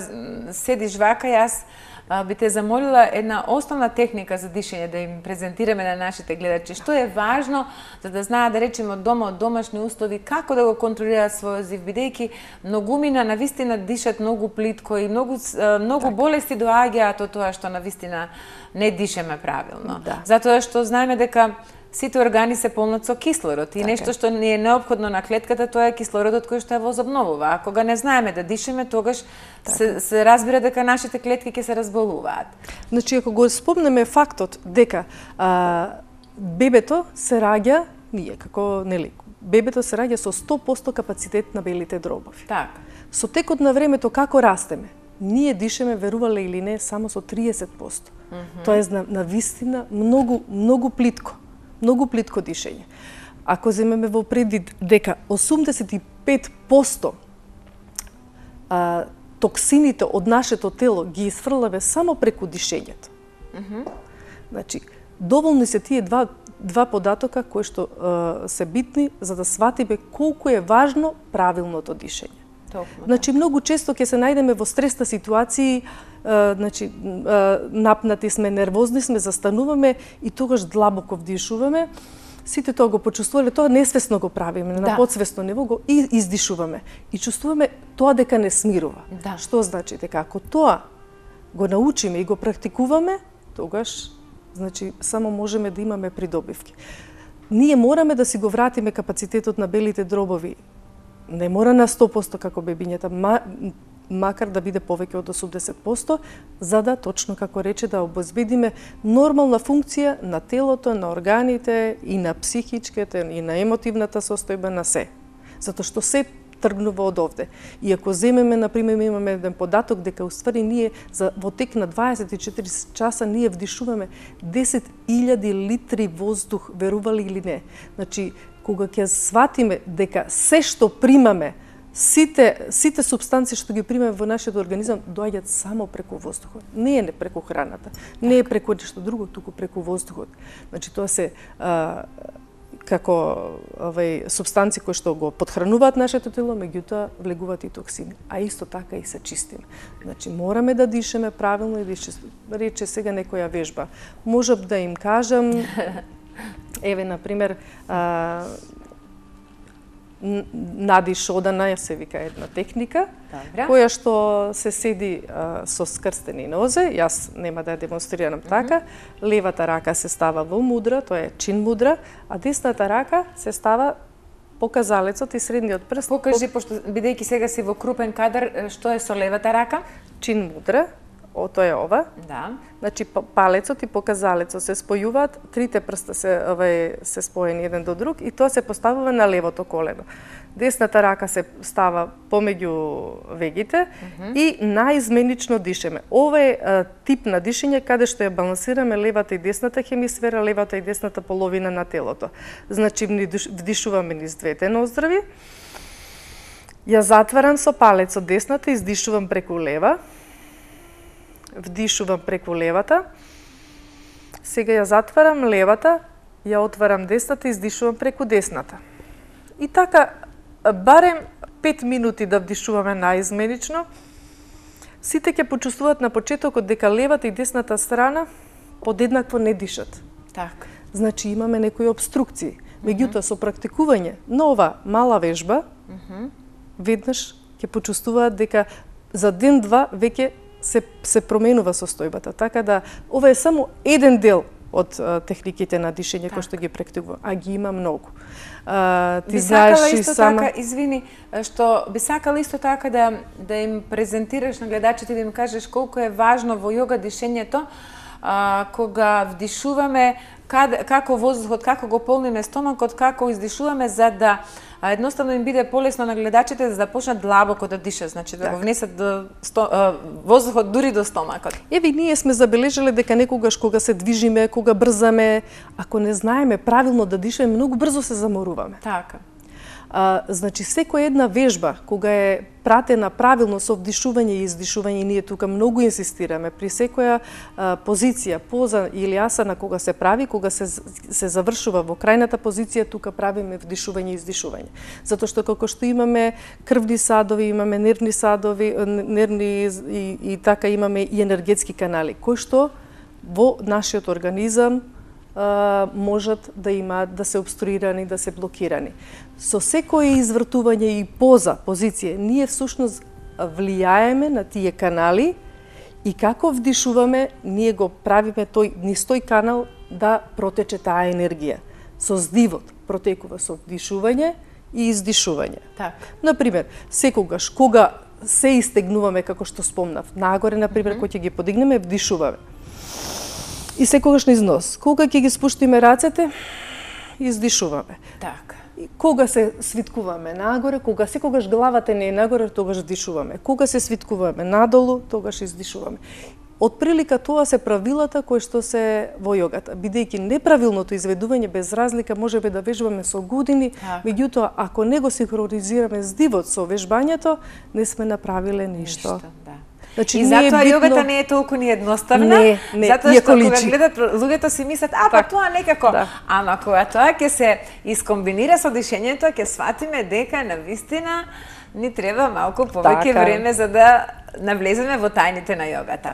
седиш вака, јас а, би те замолила една основна техника за дишење да им презентираме на нашите гледачи. Што е важно за да знаат, да речеме, од дома, од домашни услови, како да го контролираат својот здив, бидејќи многумина навистина дишат многу плитко и многу, многу болести доаѓаат од тоа што навистина не дишеме правилно. Да. Затоа што знаеме дека сите органи се полнат со кислород и така. Нешто што ни е неопходно на клетката, тоа е кислородот кој што ја возобновува. А кога не знаеме да дишеме, тогаш се, се разбира дека нашите клетки ќе се разболуваат. Значи, ако го спомнеме фактот дека а, бебето се раѓа, ние како, нели, бебето се раѓа со сто проценти капацитет на белите дробови. Така. Со текот на времето како растеме, ние дишеме, верувале или не, само со триесет проценти. Mm -hmm. Тоа е на, на вистина многу, многу плитко. Многу плитко дишење. Ако земеме во предвид дека осумдесет и пет проценти а, токсините од нашето тело ги изфрлаве само преку дишењето. Mm -hmm. Значи, доволни се тие два, два податока кои што а, се битни за да сватиме колку е важно правилното дишење. Токму, значи, многу често ќе се најдеме во стресна ситуации, а, значи, а, напнати сме, нервозни сме, застануваме и тогаш длабоко вдишуваме. Сите тоа го почувствувале, тоа несвесно го правиме, да. На подсвесно ниво го и издишуваме. И чувствуваме тоа дека не смирува. Да. Што значи дека ако тоа го научиме и го практикуваме, тогаш значи само можеме да имаме придобивки. Ние мораме да си го вратиме капацитетот на белите дробови. Не мора на сто проценти како бебињата, ма, макар да биде повеќе од осумдесет проценти, за да, точно како рече, да обезбедиме нормална функција на телото, на органите и на психичката и на емотивната состојба на се. Затоа што се тргнува од овде. И ако земеме, например, имаме еден податок дека уствари ние за во тек на дваесет и четири часа ние вдишуваме десет илјади литри воздух, верували или не. Значи, кога ќе сватиме дека се што примаме сите сите супстанции што ги примаме во нашиот организам доаѓаат само преку воздухот. Не е преку храната, не е преку нешто друго, туку преку воздухот. Значи тоа се а, како овај супстанции кои што го потхрануваат нашето тело, меѓутоа влегуваат и токсини, а исто така и се чистиме. Значи мораме да дишеме правилно и да рече сега некоја вежба. Можев да им кажам, еве на пример, а, надиш одана, се вика една техника, Добре. која што се седи а, со скрстени нозе, јас нема да ја демонстрирам така, левата рака се става во мудра, тоа е чин мудра, а десната рака се става показалецот и средниот прст. Покажи, пошто бидејќи сега си во крупен кадар, што е со левата рака? Чин мудра, о, тоа е ова. Да. Значи палецот и показалецот се спојуваат, трите прста се овај се споени еден до друг и тоа се поставува на левото колено. Десната рака се става помеѓу вегите mm -hmm. и наизменично дишеме. Ова е а, тип на дишење каде што ја балансираме левата и десната хемисфера, левата и десната половина на телото. Значи вдишуваме низ двете ноздрави. Ја затварам со палецот десната, издишувам преку лева. Вдишувам преку левата. Сега ја затварам левата, ја отварам десната и издишувам преку десната. И така барем пет минути да вдишуваме наизменично. Сите ќе почувствуваат на почетокот дека левата и десната страна подеднакво не дишат. Така. Значи имаме некои обструкции. Меѓутоа со практикување на ова мала вежба, mm -hmm. веднаш ќе почувствуваат дека за ден-два веќе се се променува состојбата. Така да ова е само еден дел од а, техниките на дишење кои што ги практикувам, а ги има многу. А, ти би знаеш сакала и исто сама... така, извини, што би сакала исто така да да им презентираш на гледачите, да им кажеш колку е важно во јога дишењето, а, кога вдишуваме, каде, како воздухот, како го полниме стомакот, како издишуваме, за да а, едноставно им биде полесно на гледачите за да почнат длабоко да дишат, значи да так. го внесат до сто, а, воздухот дури до стомакот. Еве ние сме забележале дека некогаш кога се движиме, кога брзаме, ако не знаеме правилно да дишеме, многу брзо се заморуваме. Така. А, значи, секоја една вежба, кога е пратена правилно со вдишување и издишување, ние тука многу инсистираме, при секоја а, позиција, поза или асана кога се прави, кога се, се завршува во крајната позиција, тука правиме вдишување и издишување. Затоа што како што имаме крвни садови, имаме нервни садови, нервни и, и така имаме и енергетски канали, кои што во нашиот организам можат да имаат, да се обструирани, да се блокирани. Со секое извртување и поза, позиција, ние всушност влијаеме на тие канали и како вдишуваме, ние го правиме тој, низ тој канал да протече таа енергија. Со здивот протекува со вдишување и издишување. Так. Например, секогаш кога се истегнуваме, како што спомнав, нагоре, например, mm -hmm. кога ќе ги подигнеме, вдишуваме. И секогаш низ нос. Кога ќе ги спуштиме рацете, издишуваме. Така. И кога се свиткуваме нагоре, кога секогаш главата не е нагоре, тогаш дишуваме. Кога се свиткуваме надолу, тогаш издишуваме. Од прилика тоа се правилата кои што се во јогата. Бидејќи неправилното изведување без разлика можеби да вежбаме со години, така. Меѓутоа ако не го синхронизираме здивот со вежбањето, не сме направиле ништо. Ништо, да. Значи, и затоа битно... јогата не е толку ни едноставна, не, не, затоа што кога личи. гледат луѓето си мислат, а па так. тоа некако, да. ама кога тоа ќе се искомбинира со дишењето, ќе сватиме дека навистина ни треба малку повеќе така. време за да навлеземе во тајните на јогата.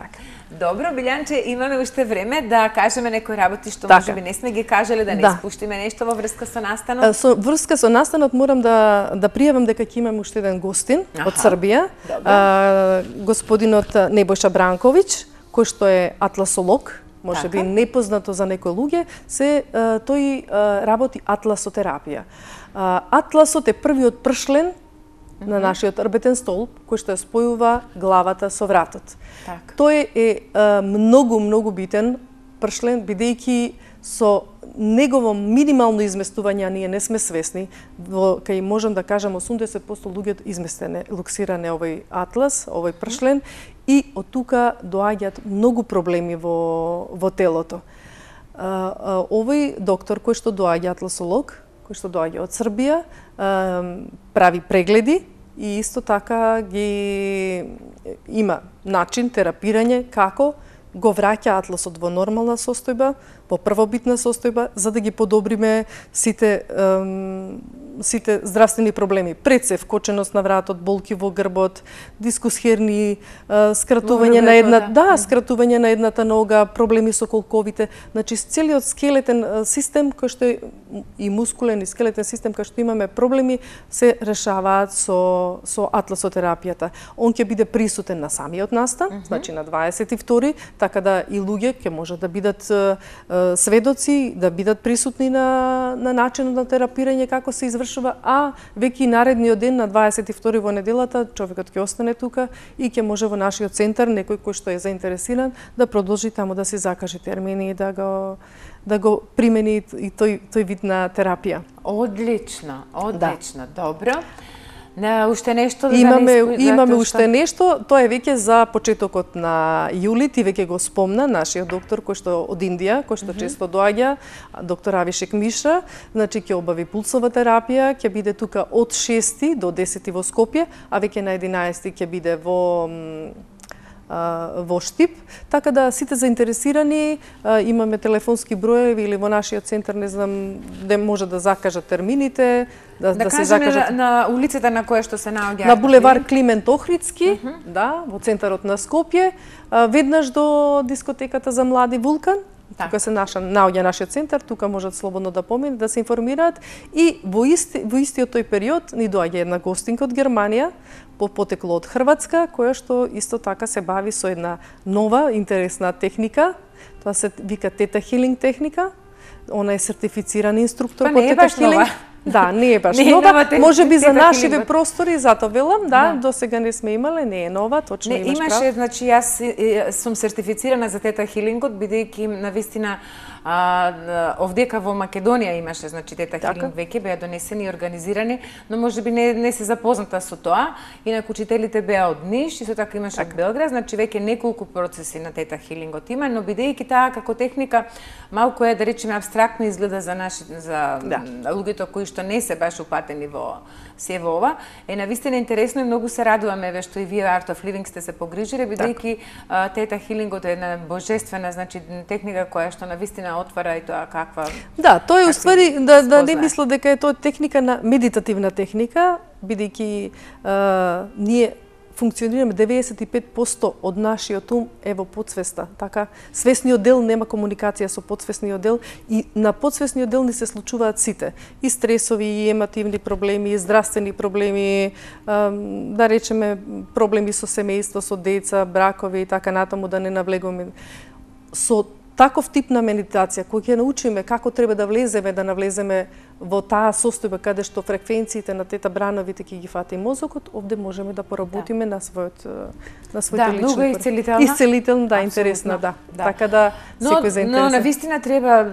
Добро, Билјанче, имаме уште време да кажеме некои работи што така. можеби не сме ги кажале, да не да. испуштиме нешто во врска со настанот. Со врска со настанот морам да да пријавам дека ќе имаме уште еден гостин Аха. од Србија, а, господинот Небојша Бранковиќ, кој што е атласолог, можеби така. непознато за некои луѓе, се а, тој а, работи атласотерапија. А, атласот е првиот пршлен на нашиот рбетен столб, кој што ја спојува главата со вратот. Так. Тој е а, многу, многу битен пршлен, бидејќи со негово минимално изместување, а ние не сме свесни, во, кај можам да кажам осумдесет проценти луѓето изместене, луксиране овој атлас, овој пршлен, и од тука доаѓаат многу проблеми во, во телото. А, а, овој доктор кој што доаѓа, атласолог, кој што доаѓа од Србија, прави прегледи и исто така ги има начин терапирање како го враќа атласот во нормална состојба, во првобитна состојба, за да ги подобриме сите ем, сите здравствени проблеми. Пред се вкоченост на вратот, болки во грбот, дискус херни, скратување на една, да, скратување на едната нога, проблеми со колковите, значи целиот скелетен систем кој што е и мускулен и скелетен систем кој што имаме проблеми се решаваат со со атласотерапијата. Он ќе биде присутен на самиот настан, mm -hmm. значи на дваесет и втори, така да и луѓе ќе можат да бидат е, сведоци, да бидат присутни на на начинот на терапирање како се извршува, а веќе наредниот ден на дваесет и втори во неделата човекот ќе остане тука и ќе може во нашиот центар некој кој што е заинтересиран да продолжи таму да се закаже термини и да го да го примени и тој тој вид на терапија. Одлично, одлично, да. Добро. На уште нешто да имаме да имаме уште нешто, тоа е веќе за почетокот на јули, ти веќе го спомна нашиот доктор кој што од Индија, кој што mm -hmm. често доаѓа, доктор Авишек Мишра, значи ќе обави пулсова терапија, ќе биде тука од шести до десети во Скопје, а веќе на единаесети ќе биде во во Штип, така да сите заинтересирани имаме телефонски броеви или во нашиот центар, не знам, де може да закажат термините, да, да, да се на, закажат на улицата на која што се наоѓа на булевар Климент Охридски, uh -huh. да, во центарот на Скопје, веднаш до дискотеката за млади Вулкан. Так. Тука се наша наоѓа нашиот центар, тука можат слободно да поминат, да се информираат и во исти во истиот тој период ни доаѓа една гостинка од Германија, по потекло од Хрватска, која што исто така се бави со една нова интересна техника. Тоа се вика тета хилинг техника. Она е сертифициран инструктор па по тета хилинг. Да, не е баш не нова, нова може би за нашиве хилинг. Простори, затоа велам, да, да, до сега не сме имале, не е нова, точно не, имаш имаше, прав. значи јас сум сертифицирана за тета хилингот, бидејќи навистина а, овдека во Македонија имаше, значи тета така? Хилинг веќе беа донесени и организирани, но можеби не не се запозната со тоа. Инаку учителите беа од Ниш, исто така имаше така. Од Белград, значи веќе неколку процеси на тета хилингот има, но бидејќи таа како техника малку е да речеме апстрактно изгледа за наши за да. Луѓето кои што не се баш упатени во се во ова, е навистина интересно и многу се радуваме ве што и вие Art of Living сте се погрижили, бидејќи тета хилингот е една божествена, значи техника која што навистина отвара и тоа каква. Да, тоа е уствари да да не мисля дека е тоа техника на медитативна техника, бидејќи ние функционираме деветдесет и пет проценти од нашиот ум е во подсвеста. Така, свесниот дел нема комуникација со подсвесниот дел и на подсвесниот дел ни се случуваат сите. И стресови, и емативни проблеми, и здравствени проблеми, да речеме проблеми со семејство, со деца, бракови и така натаму, да не навлегуваме. Со таков тип на медитација, кој ќе научиме како треба да влеземе, да навлеземе во таа состојба каде што фреквенциите на тета брановите ќе ги фати мозокот, овде можеме да поработиме да. на својот на своите да, лични. Да, многу исцелителна. Исцелителна, да, интересна, да. да. Така да секој заинтересен. Но навистина треба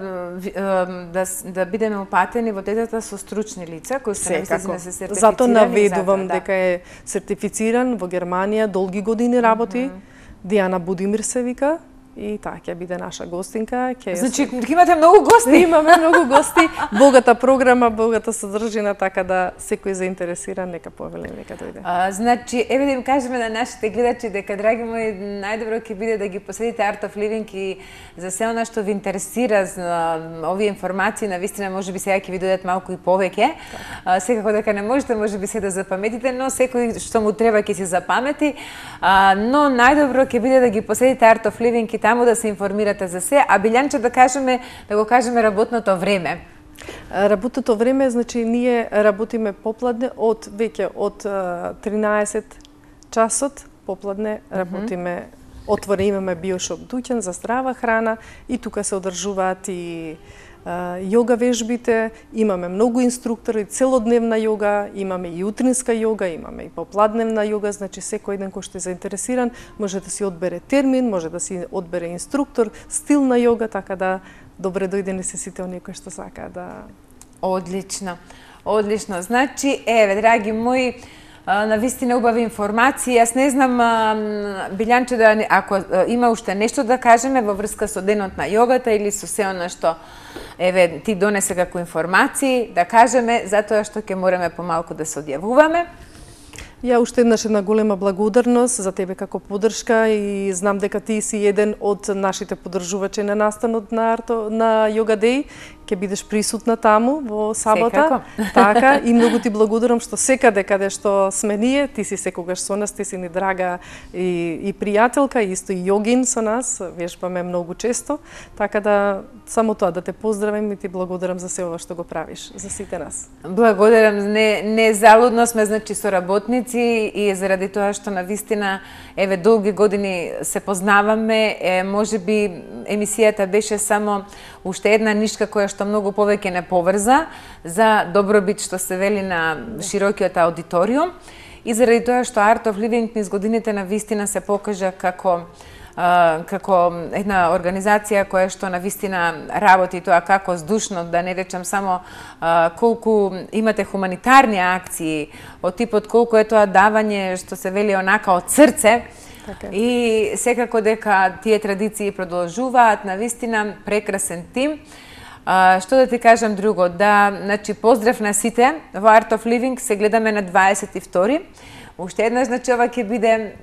да да бидеме упатени во тетата со стручни лица кои се навистина се сертифицирани. Зато наведувам да. дека е сертифициран во Германија, долги години работи. Mm -hmm. Дијана Будимир се вика. И таа ќе биде наша гостинка. Ќе значи, имате многу гости? Имаме многу гости, богата програма, богата содржина, така да секој заинтересиран нека повели, нека дојде. А, значи, еве да им кажеме на нашите гледачи дека, драги мои, најдобро ќе биде да ги посетите Art of Living и за се она што ви интересира за овие информации, навистина можеби сега ќе ви дојдат малку и повеќе. А, секако дека не можете можеби се да запаметите, но секој што му треба ќе се запамети. А, но најдобро ќе биде да ги посетите Art of Living и таму да се информирате за се, а Билјанче да кажеме, да го кажеме работното време. Работното време, значи ние работиме попладне од веќе од тринаесет часот, попладне работиме, mm -hmm. отвори имаме биошоп дуќан за здрава храна и тука се одржуваат и јога вежбите, имаме многу инструктори, целодневна јога, имаме и утринска јога, имаме и попладневна јога, значи секој еден кој што е заинтересиран може да си одбере термин, може да си одбере инструктор, стил на јога, така да добре дојдени се сите оние кои што сака да... Одлично, одлично. Значи, еве, драги мои, навистина убави информации. Јас не знам, Билјанче, да, ако има уште нешто да кажеме во врска со денот на јогата или со се она што еве ти донесе како информации, да кажеме, затоа што ќе мораме помалку да се одјавуваме. Ја уште еднаш една голема благодарност за тебе како поддршка и знам дека ти си еден од нашите поддржувачи на настанот на Арто на Yoga Day. Ќе бидеш присутна таму во сабота. Секако. Така, и многу ти благодарам што секаде каде што сме ние, ти си секогаш со нас, ти си ни драга и, и пријателка, исто и јогин со нас, вежбаме многу често. Така да само тоа да те поздравам и ти благодарам за се ова што го правиш за сите нас. Благодарам, не не залудно сме значи соработници и заради тоа што навистина еве долги години се познаваме, е, можеби емисијата беше само уште една нишка која што многу повеќе не поврза за добробит што се вели на широкиот аудиториум и заради тоа што Art of Living низ годините навистина се покажа како Uh, како една организација која што навистина работи тоа како здушно, да не речам само uh, колку имате хуманитарни акции, од типот колку е тоа давање што се вели онака од срце. Така. И секако дека тие традиции продолжуваат, навистина прекрасен тим. Uh, што да ти кажам друго, да, значи поздрав на сите, во Art of Living се гледаме на дваесет и втори. Уште една, значи ова ќе биде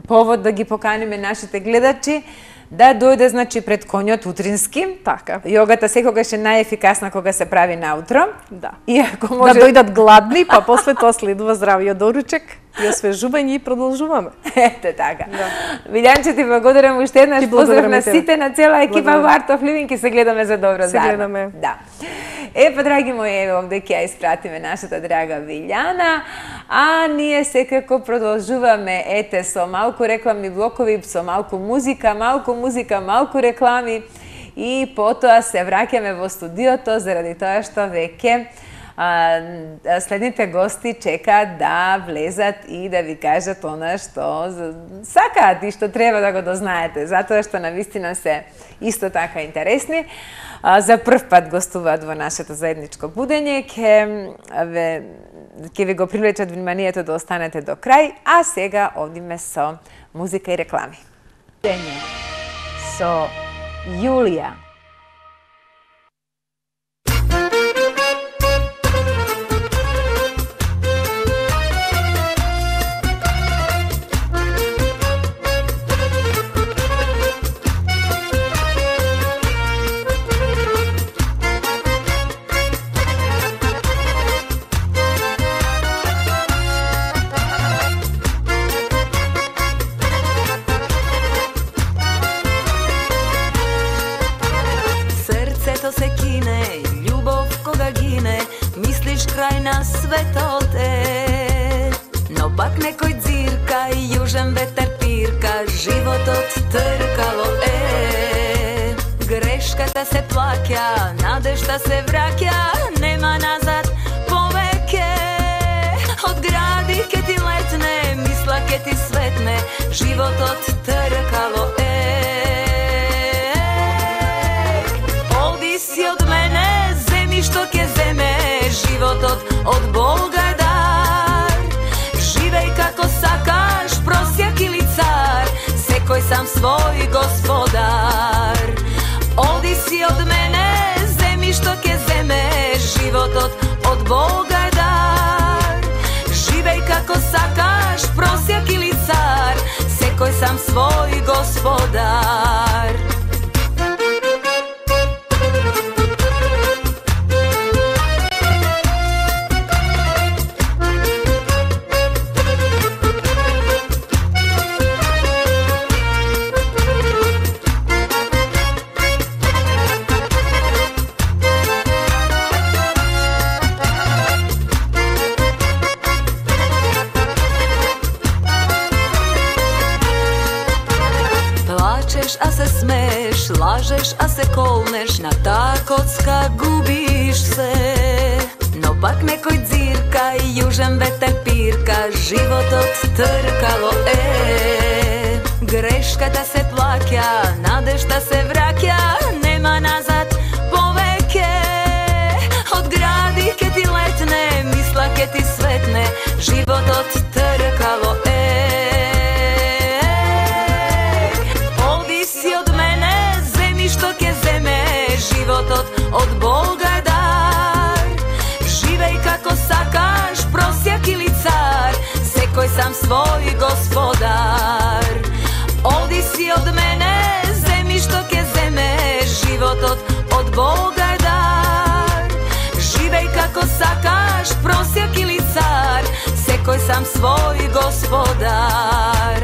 повод да ги поканиме нашите гледачи да дојде значи пред коњот утрински. Така. Јогата секогаш е најефикасна кога се прави наутро. Да. Иако може Да дојдат гладни, па после тоа следува здравиот доручек и освежување и продолжуваме. Ете така. Да. Вилјанче, ти благодарам уште еднаш, Ти поздрав благодарам на и тебе. сите, на цела екипа Благодарам. во Art of Living и се гледаме за добро Се заедно. гледаме. Да. Е, па, драги мои, еве овде ќе ја испратиме нашата драга Вилјана, а ние секако продолжуваме, ете, со малку рекламни блокови, со малку музика, малку музика, малку реклами и потоа се враќаме во студиото заради тоа што веќе а, следните гости чекаат да влезат и да ви кажат она што сакаат и што треба да го дознаете, затоа што навистина се исто така интересни. А, за прв пат гостуваат во нашето заедничко будење, ќе ве ќе ви го привлечат вниманието да останете до крај, а сега одиме со музика и реклами. Со Јулија. Se kine, љубов кога гине, мислиш крај на светот е. Но пак некој дзирка и јужен ветер пирка, животот тркало е. Грешката се плаќа, надежта се враќа, нема назад повеќе. Од гради ке ти летне, мисла ке ти светне, животот тркало е. Си од мене, земи што ќе земе, животот од Бога дар. Живеј како сакаш, просјак или цар, секој сам свој господар. Оди си од мене, земи што ќе земе, животот од Бога дар. Живеј како сакаш, просјак или цар, секој сам свој господар. А се смееш, лажеш, а се колнеш, на таа коцка губиш се. Но пак некој дзирка и јужен ветер пирка, животот тркало е. Грешката се плаќа, надежта се враќа, нема назад повеќе. Од гради ке ти летне, мисла ке ти светне, животот тркало е. Животот од Бога дар. Живеј како сакаш, просјак или цар, секој Секој сам свој господар. Оди си од мене, земи што ќе земе, животот од Бога е дар. Живеј како сакаш, просјак или цар, секој сам свој господар.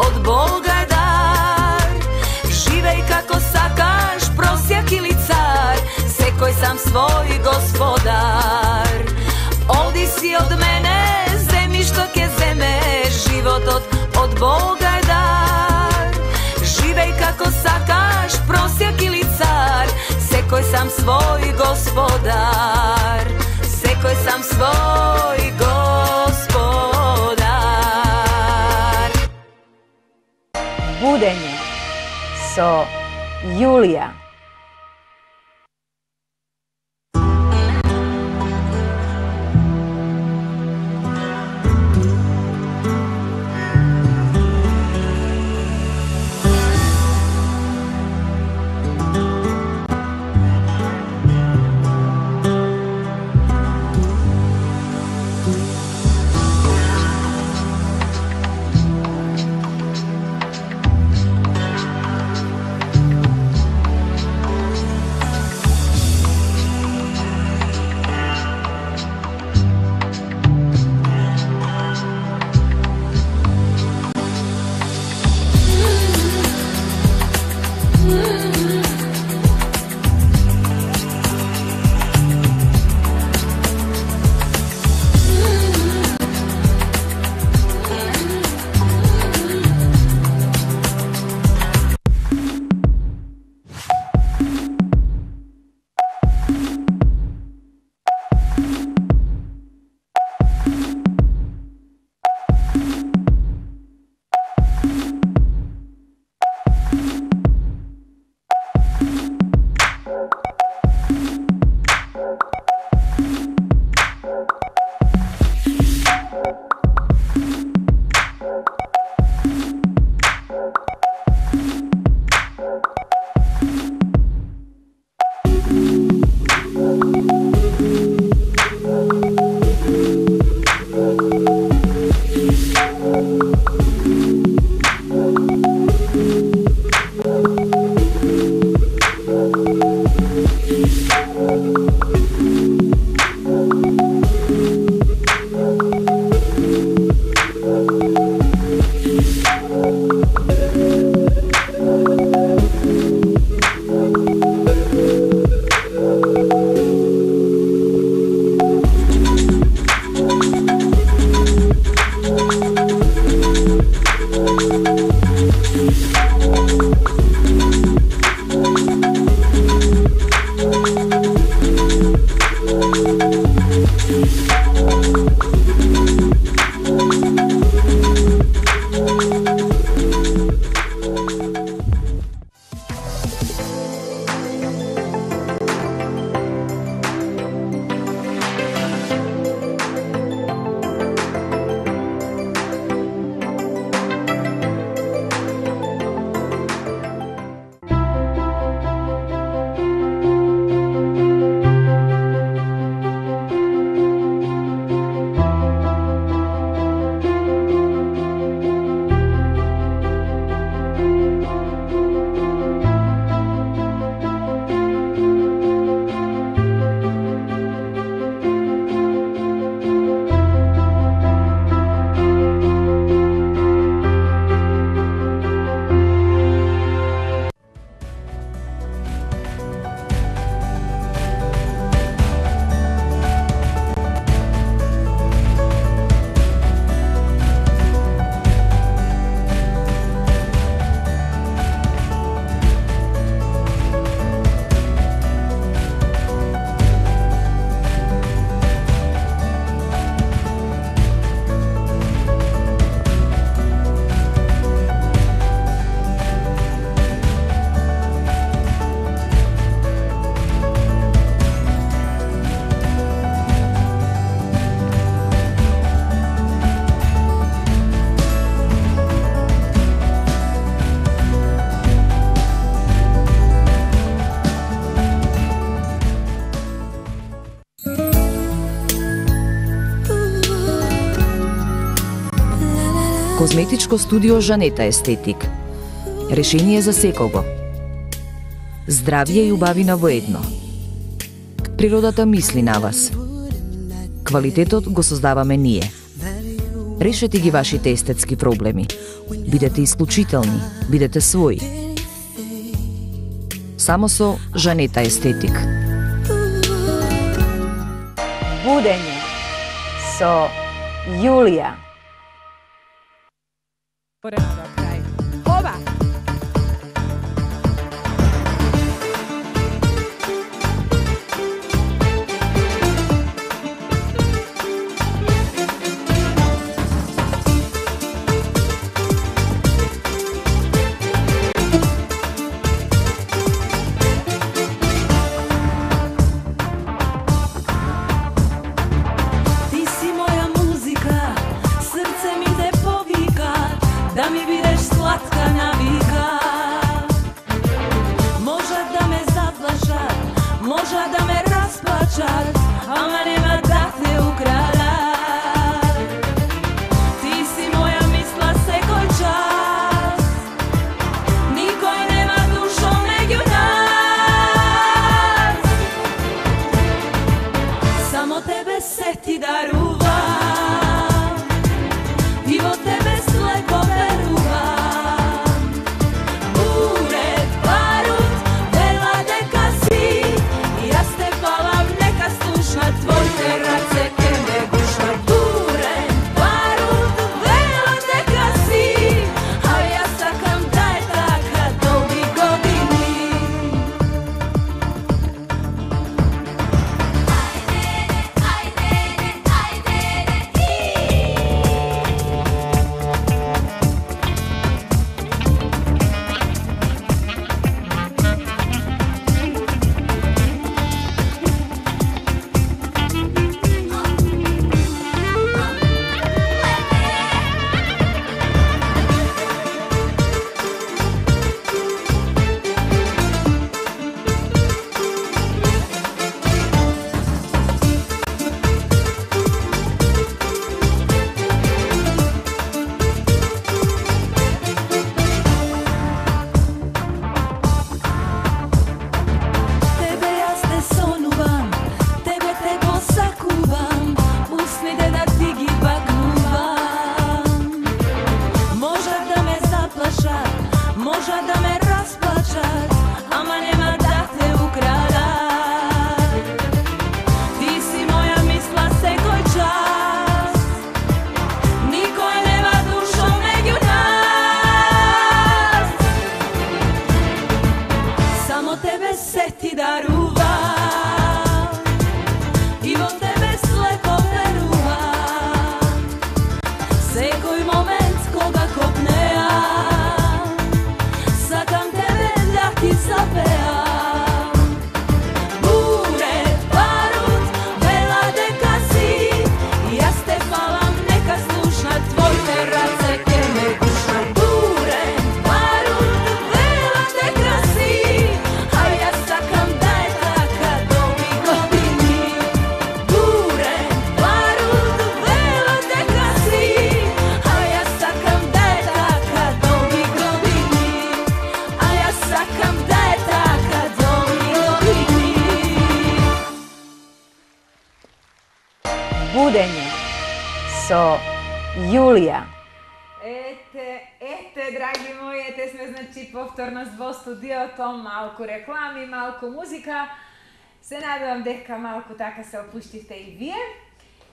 Од Бога дар. Живеј како сакаш, просјак или цар, секој сам свој господар. Оди си од мене, земи што ќе земе, животот од Бога е дар. Живеј како сакаш, просјак или цар, секој сам свој господар. Секој сам свој господар. Будење со Јулија. Козметичко студио Жанета Естетик. Решение за секого. Здравје и убавина во едно. Природата мисли на вас. Квалитетот го создаваме ние. Решете ги вашите естетски проблеми. Бидете исклучителни, бидете своји. Само со Жанета Естетик. Будење со Јулија. Поредно крај. Ова! Будење со Јулија. Ете, ете, драги мои, ете сме, значи, повторно во студиото, малку реклами, малку музика. Се надевам дека малку така се опуштивте и вие.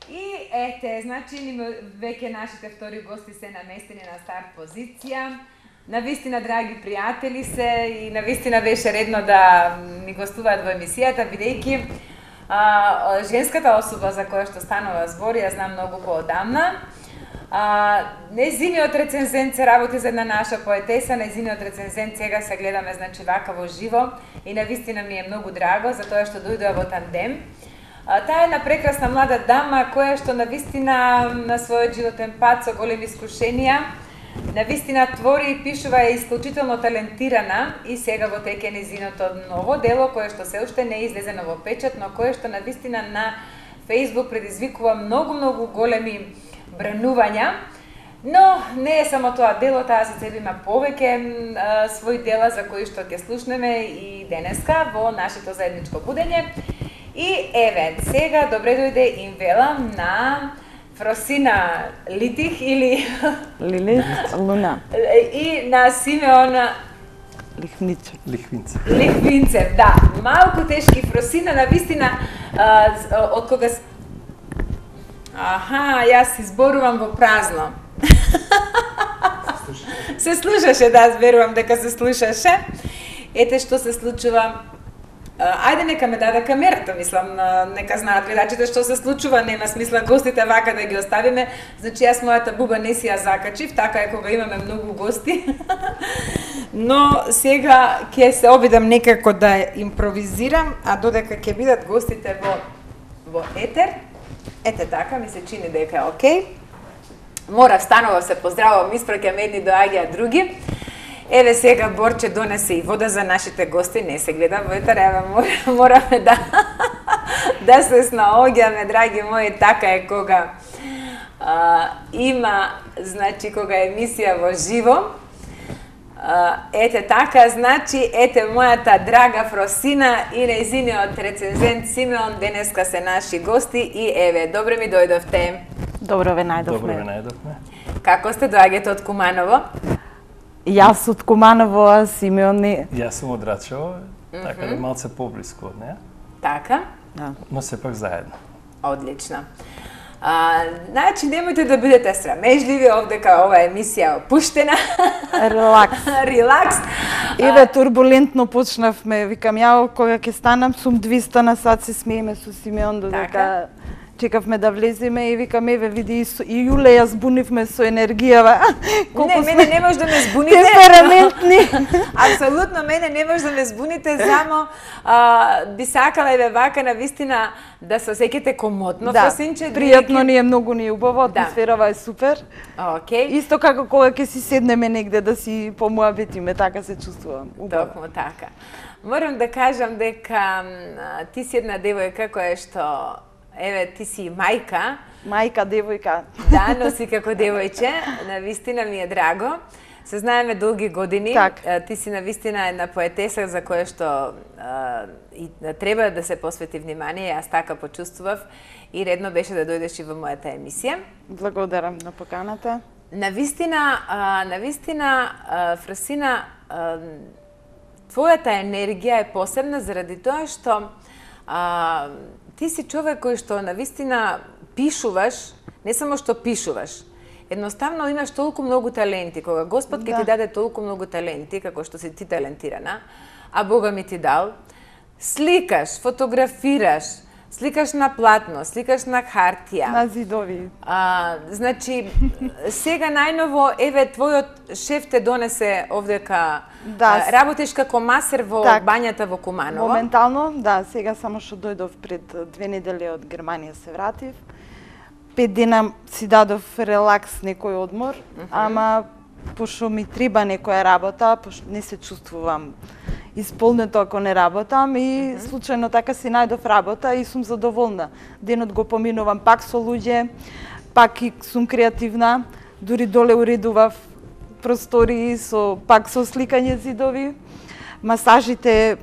И ете, значи, веќе нашите втори гости се наместени на старт позиција. Навистина, драги пријатели се, и навистина беше редно да ни гостуваат во емисијата, бидејќи А, женската особа за која што станува збор, ја знам многу поодамна. А, незиниот рецензент се работи за една наша поетеса, незиниот рецензент сега се гледаме, значи, вака во живо и навистина ми е многу драго за тоа што дојдоа во тандем. А, таа е една прекрасна млада дама која што навистина на својот животен пат со големи искушенија, навистина твори и пишува, е исклучително талентирана и сега во теке незиното ново дело кое што се уште не е излезено во печат, но кое што навистина на Facebook предизвикува многу многу големи бранувања. Но не е само тоа дело, таа се цели има повеќе а, своји дела за кои што ќе слушнеме и денеска во нашето заедничко будење. И еве, сега добре дојде им велам на Фросина Литих или Лилит Луна и на Симеон Лихвинцев. Лихвинцев. Лихвинцев, да. Малку тешки Фросина, навистина од кога с... Аха, јас изборувам во празно. Се слушаше, да, верувам дека се слушаше. Ете што се случува. Ајде нека ме даде камерата, мислам, нека знаат гледачите што се случува, нема смисла гостите вака да ги оставиме. Значи јас мојата буба не си ја закачив, така е кога имаме многу гости. Но сега ќе се обидам некако да импровизирам, а додека ќе бидат гостите во во етер. Ете така, ми се чини дека е окей. Мора станува се поздравувам, испраќам едни, доаѓаат други. Еве сега Борче донесе и вода за нашите гости, не се гледа во етер, еве мораме да да се снаоѓаме, драги мои, така е кога а, има, значи кога е емисија во живо. А, ете така, значи, ете мојата драга Фросина и нејзиниот рецензент Симеон денеска се наши гости и еве, добре ми дојдовте. Добро ве најдовме. Добро ве најдовме. Како сте, доаѓате од Куманово? Јас од Куманово, а Симеон не. Јас сум од Рачево, така да малце поблиску од неа, Така? Да. но сепак заедно. Одлично. А, значи, немојте да бидете срамежливи, овдека ова емисија е опуштена. Релакс. Релакс. Еве турбулентно почнавме, викам ја кога ќе станам сум двиста на сат, се смееме со Симеон додека Така. чекавме да влеземе и викам еве види и, со, и Јуле ја збунивме со енергијава. Не, мене не може да ме збуните. Темпераментни. Апсолутно мене не може да ме збуните, само а, би сакала еве вака на вистина да се осеќате комотно, Да, Фросинче. пријатно ни е, многу ни е убаво, Да. атмосферава е супер. Окей. Исто како кога ќе си седнеме негде да си помуабетиме, така се чувствувам. Убаво. Токму така. Морам да кажам дека м, ти си една девојка која што, еве, ти си мајка, Мајка, девојка. да, но си како девојче, на вистина ми е драго. Се знаеме долги години. Так. Е, Ти си на вистина една поетеса за која што а, и треба да се посвети внимание, јас така почувствував и редно беше да дојдеш и во мојата емисија. Благодарам на поканата. На вистина, а, на вистина, а, Фросина, а, твојата енергија е посебна заради тоа што а, ти си човек кој што на вистина пишуваш, не само што пишуваш, едноставно имаш толку многу таленти. Кога Господ ќе Да. ти даде толку многу таленти, како што си ти талентирана, а Бога ми ти дал, сликаш, фотографираш, сликаш на платно, сликаш на хартија. На зидови. А, значи, сега најново, еве, твојот шеф те донесе овдека, Да. а, работиш како масер во Так. бањата во Куманово. Моментално, да, сега само што дојдов пред две недели од Германија се вратив. Пет дена си дадов релакс, некој одмор, uh -huh. ама пошто ми треба некоја работа, пошто не се чувствувам исполнето ако не работам и uh -huh. случајно така си најдов работа и сум задоволна. Денот го поминувам пак со луѓе, пак и сум креативна, дури доле уредував простории со пак со сликање зидови. Масажите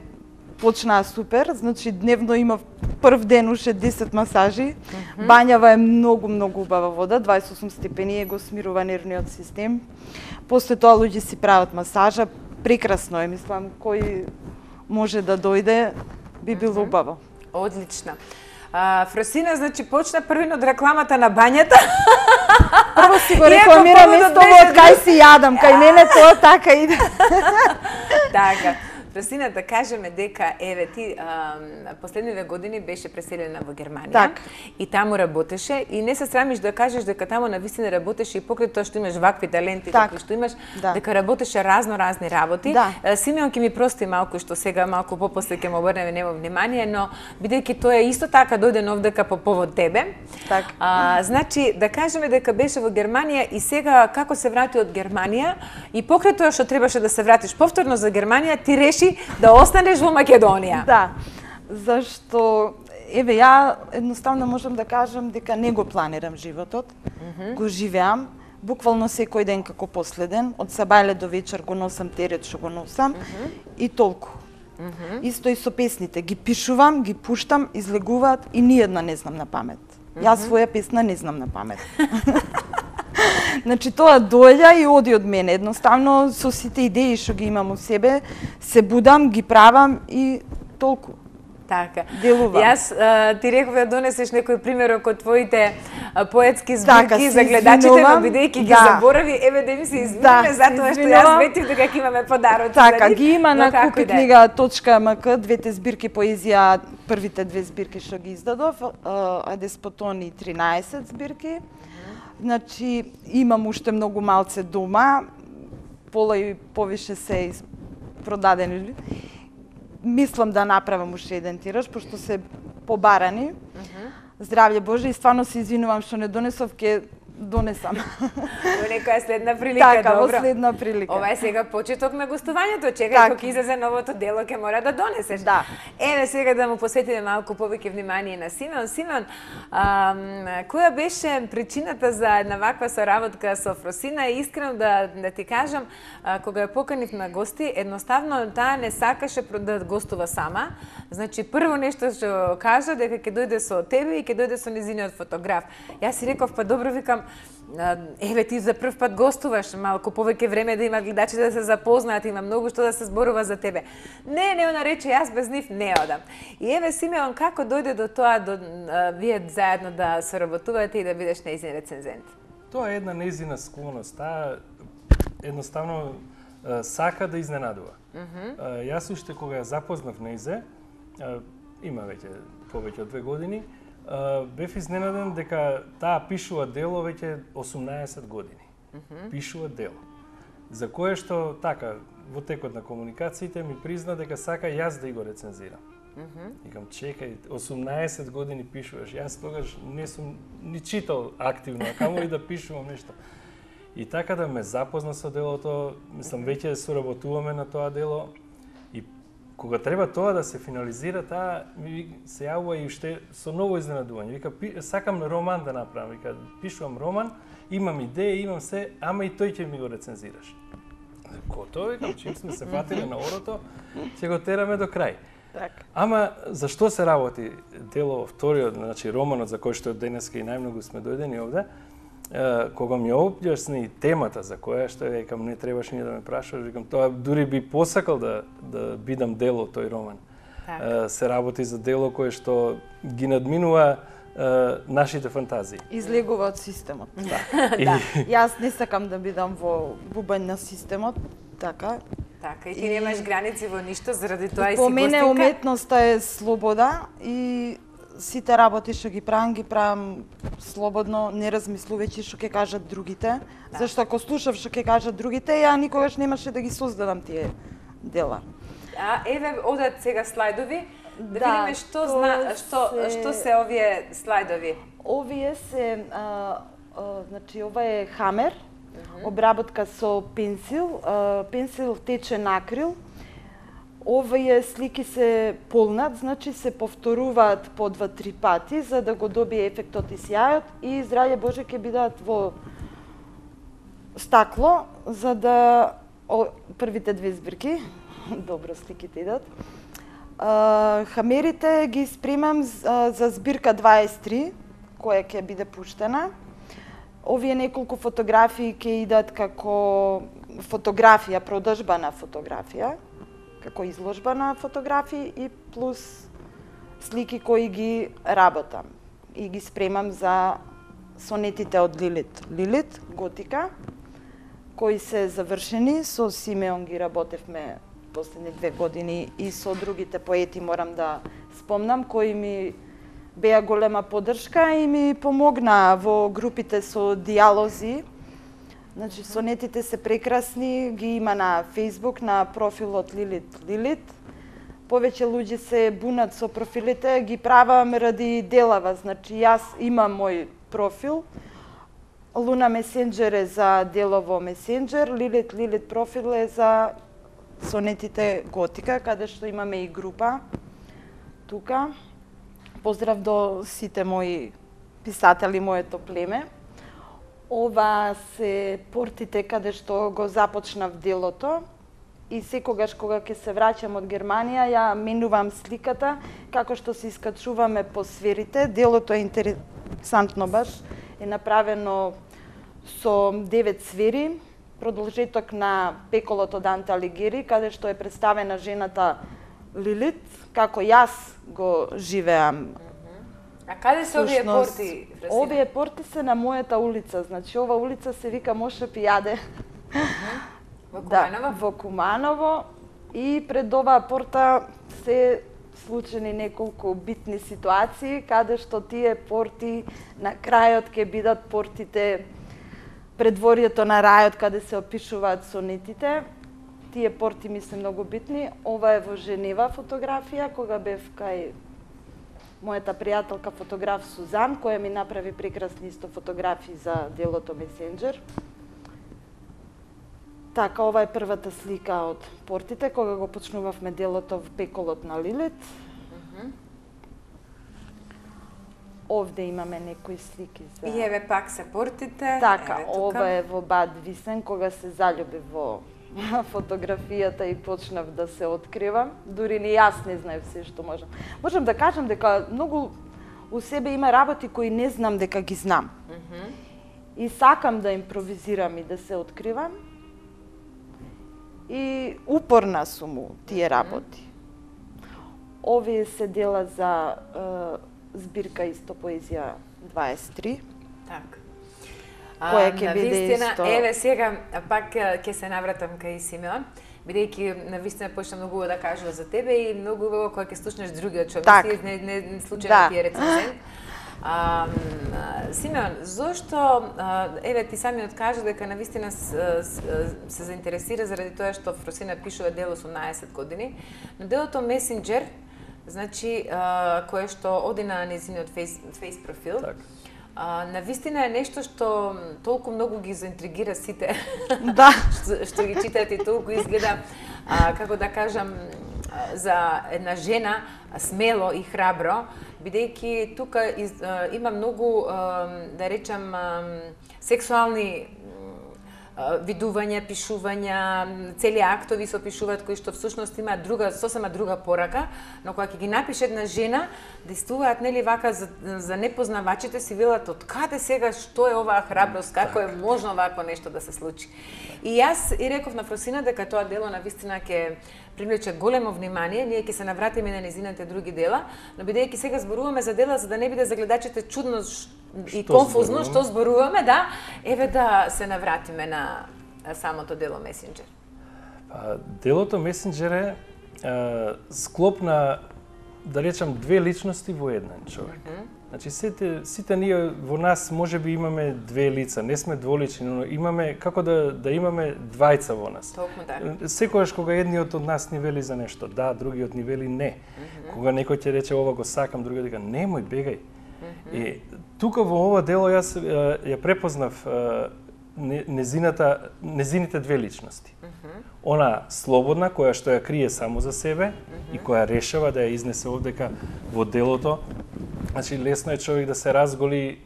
почнаа супер, значи дневно имав прв ден уште десет масажи. Mm -hmm. Бањава е многу многу убава вода, дваесет и осум степени е, го смирува нервниот систем. После тоа луѓе си прават масажа, прекрасно е, мислам, кој може да дојде би било убаво. Одлично. А, Фросина, значи, почна првин од рекламата на бањата. Прво си го Иако рекламирам поводот исто беше од кај си јадам, кај мене тоа така иде. Така. Фросина, да кажеме дека, еве, ти а, последниве години беше преселена во Германија. Так. И таму работеше. И не се срамиш да кажеш дека таму навистина работеше и покрај тоа што имаш вакви таленти, Так. какви што имаш, Да. дека работеше разно-разни работи. Да. А, Симеон ќе ми прости малку што сега малку попосле ќе му обрнеме немо внимание, но бидејќи тоа е исто така дојде овдека по повод тебе. Так. А, значи, да кажеме дека беше во Германија и сега како се врати од Германија и покрај тоа што требаше да се вратиш повторно за Германија, ти реши да останеш во Македонија. Да, зашто еве ја едноставно можам да кажам дека не го планирам животот, mm -hmm. го живеам, буквално секој ден како последен, од сабајле до вечер го носам терет што го носам mm -hmm. и толку. Mm -hmm. Исто и со песните, ги пишувам, ги пуштам, излегуваат и ниедна не знам на памет. Mm -hmm. Јас своја песна не знам на памет. Значи тоа доаѓа и оди од мене. Едноставно со сите идеи што ги имам у себе, се будам, ги правам и толку. Така. Делувам. Јас а, ти реков да донесеш некој примерок од твоите а, поетски збирки така, за гледачите, но бидејќи да. ги заборави, еве да ми се извинеме да, затоа што јас ветив дека ќе имаме подароци така, за нив. ги има на купи книга точка ем ка, двете збирки поезија, првите две збирки што ги издадов, а Деспотони тринаесет збирки. Значи, имам уште многу малце дома, пола и повише се продадени. Мислам да направам уште еден тираж, пошто се побарани. Uh -huh. Здравје Боже, и стварно се извинувам што не донесов, ке донесам. Во некоја следна прилика, така, добро. Така, во следна прилика. Ова е сега почеток на гостувањето, чекај така. кога излезе новото дело, ќе мора да донесеш. Да. Еве сега да му посветиме малку повеќе внимание на Симеон. Симеон, а, која беше причината за една ваква соработка со Фросина? И искрено да, да ти кажам, а, кога ја поканив на гости, едноставно таа не сакаше да гостува сама. Значи, прво нешто што кажа дека ќе дојде со тебе и ќе дојде со незиниот фотограф. Јас си реков, па добро, викам, еве ти за прв пат гостуваш, малку повеќе време да има гледачите да се запознаат, има многу што да се зборува за тебе. Не, не, она рече, јас без нив не одам. И еве, Симеон, како дојде до тоа, до, а, вие заедно да соработувате и да бидеш нејзин рецензент? Тоа е една нејзина склоност. Таа едноставно а, сака да изненадува. Mm -hmm. а, јас уште кога ја запознав нејзе, а, има веќе повеќе од две години, Uh, бев изненаден дека таа пишува дело веќе осумнаесет години. Mm -hmm. Пишува дело. За кое што, така, во текот на комуникациите ми призна дека сака јас да и го рецензирам. Mm -hmm. Викам, чекај, осумнаесет години пишуваш, јас тогаш не сум ни читал активно, а камо и да пишувам нешто. И така да ме запозна со делото, мислам, веќе соработуваме на тоа дело. Кога треба тоа да се финализира, таа ми се јавува и уште со ново изненадување. Вика, сакам роман да направам. Вика, пишувам роман, имам идеја, имам се, ама и тој ќе ми го рецензираш. Готово, викам, чим сме се фатиле на орото, ќе го тераме до крај. Так. Ама зашто се работи дело вториот, значи романот за кој што денеска и најмногу сме дојдени овде, кога ми објасни темата за која што викам не требаш ни да ме прашаш, викам тоа дури би посакал да да бидам дел од тој роман. Так. Се работи за дело кое што ги надминува нашите фантазии. Излегува од системот. Да. Да. Јас не сакам да бидам во бубањ на системот, така. Така, и ти немаш граници во ништо, заради тоа и си По мене гостинка. уметноста е слобода и сите работи што ги правам, ги правам слободно, не размислувајќи што ќе кажат другите. Да. Зашто ако слушав што ќе кажат другите, ја никогаш немаше да ги создадам тие дела. А еве одат сега слайдови, да, Да, видиме што зна, што се- што се овие слайдови. Овие се, а, а, значи ова е хамер, обработка со пенсил, а, пенсил тече на акрил. Овие слики се полнат, значи се повторуваат по два-три пати за да го добие ефектот и сјајот и здравје Боже ќе бидат во стакло за да о, првите две збирки, добро сликите идат. А, хамерите ги спремам за, за збирка дваесет и три која ќе биде пуштена. Овие неколку фотографии ќе идат како фотографија, продажба на фотографија, како изложба на фотографии и плюс слики кои ги работам и ги спремам за сонетите од Лилит. Лилит, готика, кои се завршени, со Симеон ги работевме последни две години и со другите поети морам да спомнам, кои ми беа голема поддршка и ми помогнаа во групите со диалози. Значи, сонетите се прекрасни, ги има на Facebook, на профилот Лилит Лилит. Повеќе луѓе се бунат со профилите, ги правам ради делава. Значи, јас имам мој профил. Луна Месенџер е за делово Месенџер, Лилит Лилит профил е за сонетите готика, каде што имаме и група тука. Поздрав до сите мои писатели, моето племе. Ова се портите каде што го започнав делото и секогаш кога ќе се враќам од Германија ја менувам сликата како што се искачуваме по сферите. Делото е интересантно баш, е направено со девет сфери, продолжеток на пеколот од Данте Алигиери, каде што е представена жената Лилит, како јас го живеам. А каде се овие порти? Фрасина? Овие порти се на мојата улица, значи ова улица се вика Моше Пијаде. Во Куманово? Да, во Куманово, и пред оваа порта се случени неколку битни ситуации, каде што тие порти на крајот ќе бидат портите предворието на рајот, каде се опишуваат сонетите. Тие порти ми се многу битни. Ова е во Женева фотографија, кога бев кај мојата пријателка фотограф Сузан, која ми направи прекрасни исто фотографии за делото Месенџер. Така, ова е првата слика од портите, кога го почнувавме делото во пеколот на Лилит. Uh -huh. Овде имаме некои слики за... И еве пак се портите. Така, еве, ова е во Бад Висен, кога се заљубив во фотографијата и почнав да се откривам. Дури ни јас не знаев се што можам. Можам да кажам дека многу у себе има работи кои не знам дека ги знам. Uh -huh. И сакам да импровизирам и да се откривам. И упорна сум у тие работи. Овие се дела за е, збирка исто поезија дваесет и три. Така. Која ќе биде исто... Еве сега пак ќе се навратам кај Симеон, бидејќи навистина почна многу да кажува за тебе и многу убаво кога ќе слушнеш другиот човек, так. не, не, не случајно да. ти е рецензент. А, Симеон, зошто, еве ти самиот кажа дека навистина се заинтересира заради тоа што Фросина пишува дело осумнаесет години, но делото Месенџер, значи, кое што оди на незиниот фейс, фейс профил, так. А, навистина е нешто што толку многу ги заинтригира сите, да. што, што ги читаат и толку изгледа, а, како да кажам, за една жена смело и храбро, бидејќи тука из, а, има многу, а, да речам, а, сексуални а, видувања, пишувања, цели актови се опишуваат кои што всушност има друга, сосема друга порака, но кога ќе ги напише една жена, действуваат нели вака за, за непознавачите си велат од каде сега, што е оваа храброст, како е можно вакво нешто да се случи. И јас и реков на Фросина дека тоа дело навистина ќе привлече големо внимание, ние ќе се навратиме на незините други дела, но бидејќи сега зборуваме за дела за да не биде за гледачите чудно и што конфузно зборуваме? што зборуваме, да, еве да се навратиме на самото дело Месенџер. Па, делото Месенџер е, е склоп на, да речам, две личности во еден човек. Mm -hmm. Значи, сите, сите ние во нас може би имаме две лица, не сме дволични, но имаме, како да, да имаме двајца во нас. Толку да. Секогаш кога едниот од нас ни вели за нешто, да, другиот ни вели не. Mm -hmm. Кога некој ќе рече ова го сакам, другиот дека немој, бегај. Mm -hmm. И тука во ова дело јас ја препознав незината, незините две личности. Mm -hmm. Она слободна, која што ја крие само за себе mm -hmm. и која решава да ја изнесе овдека во делото. Значи, лесно е човек да се разголи,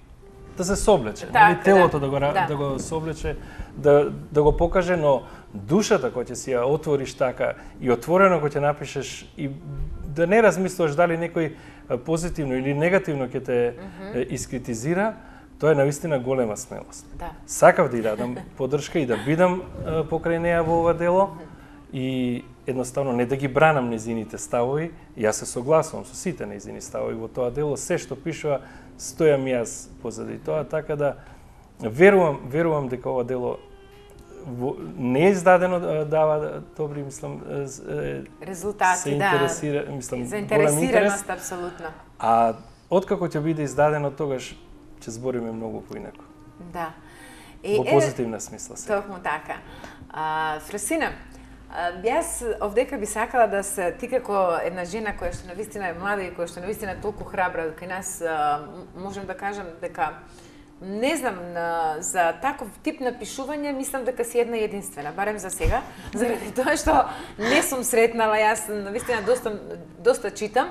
да се соблече, так, нали, телото да, да, го, да. да го соблече, да, да го покаже, но душата која ќе си ја отвориш така и отворено која ќе напишеш и да не размислуваш дали некој позитивно или негативно ќе те mm -hmm. искритизира, тоа е навистина голема смелост. Да. Сакав да ја дадам поддршка и да бидам покрај неа во ова дело mm -hmm. и едноставно не да ги бранам незините ставови, јас се согласувам со сите незини ставови во тоа дело, се што пишува, стојам јас позади тоа, така да верувам, верувам дека ова дело во, не е издадено, дава добри, мислам, резултати, се интересира, да, мислам, заинтересираност, апсолутно. А откако ќе биде издадено, тогаш ќе збориме многу поинаку. Да. И, во позитивна е, смисла се. Токму така. А, Фросина, јас овдека би сакала да се, ти како една жена која што навистина е млада и која што навистина е толку храбра, кај нас можем да кажам дека не знам, за таков тип на пишување, мислам дека си една единствена, барем за сега, заради тоа што не сум сретнала, јас навистина доста, доста читам,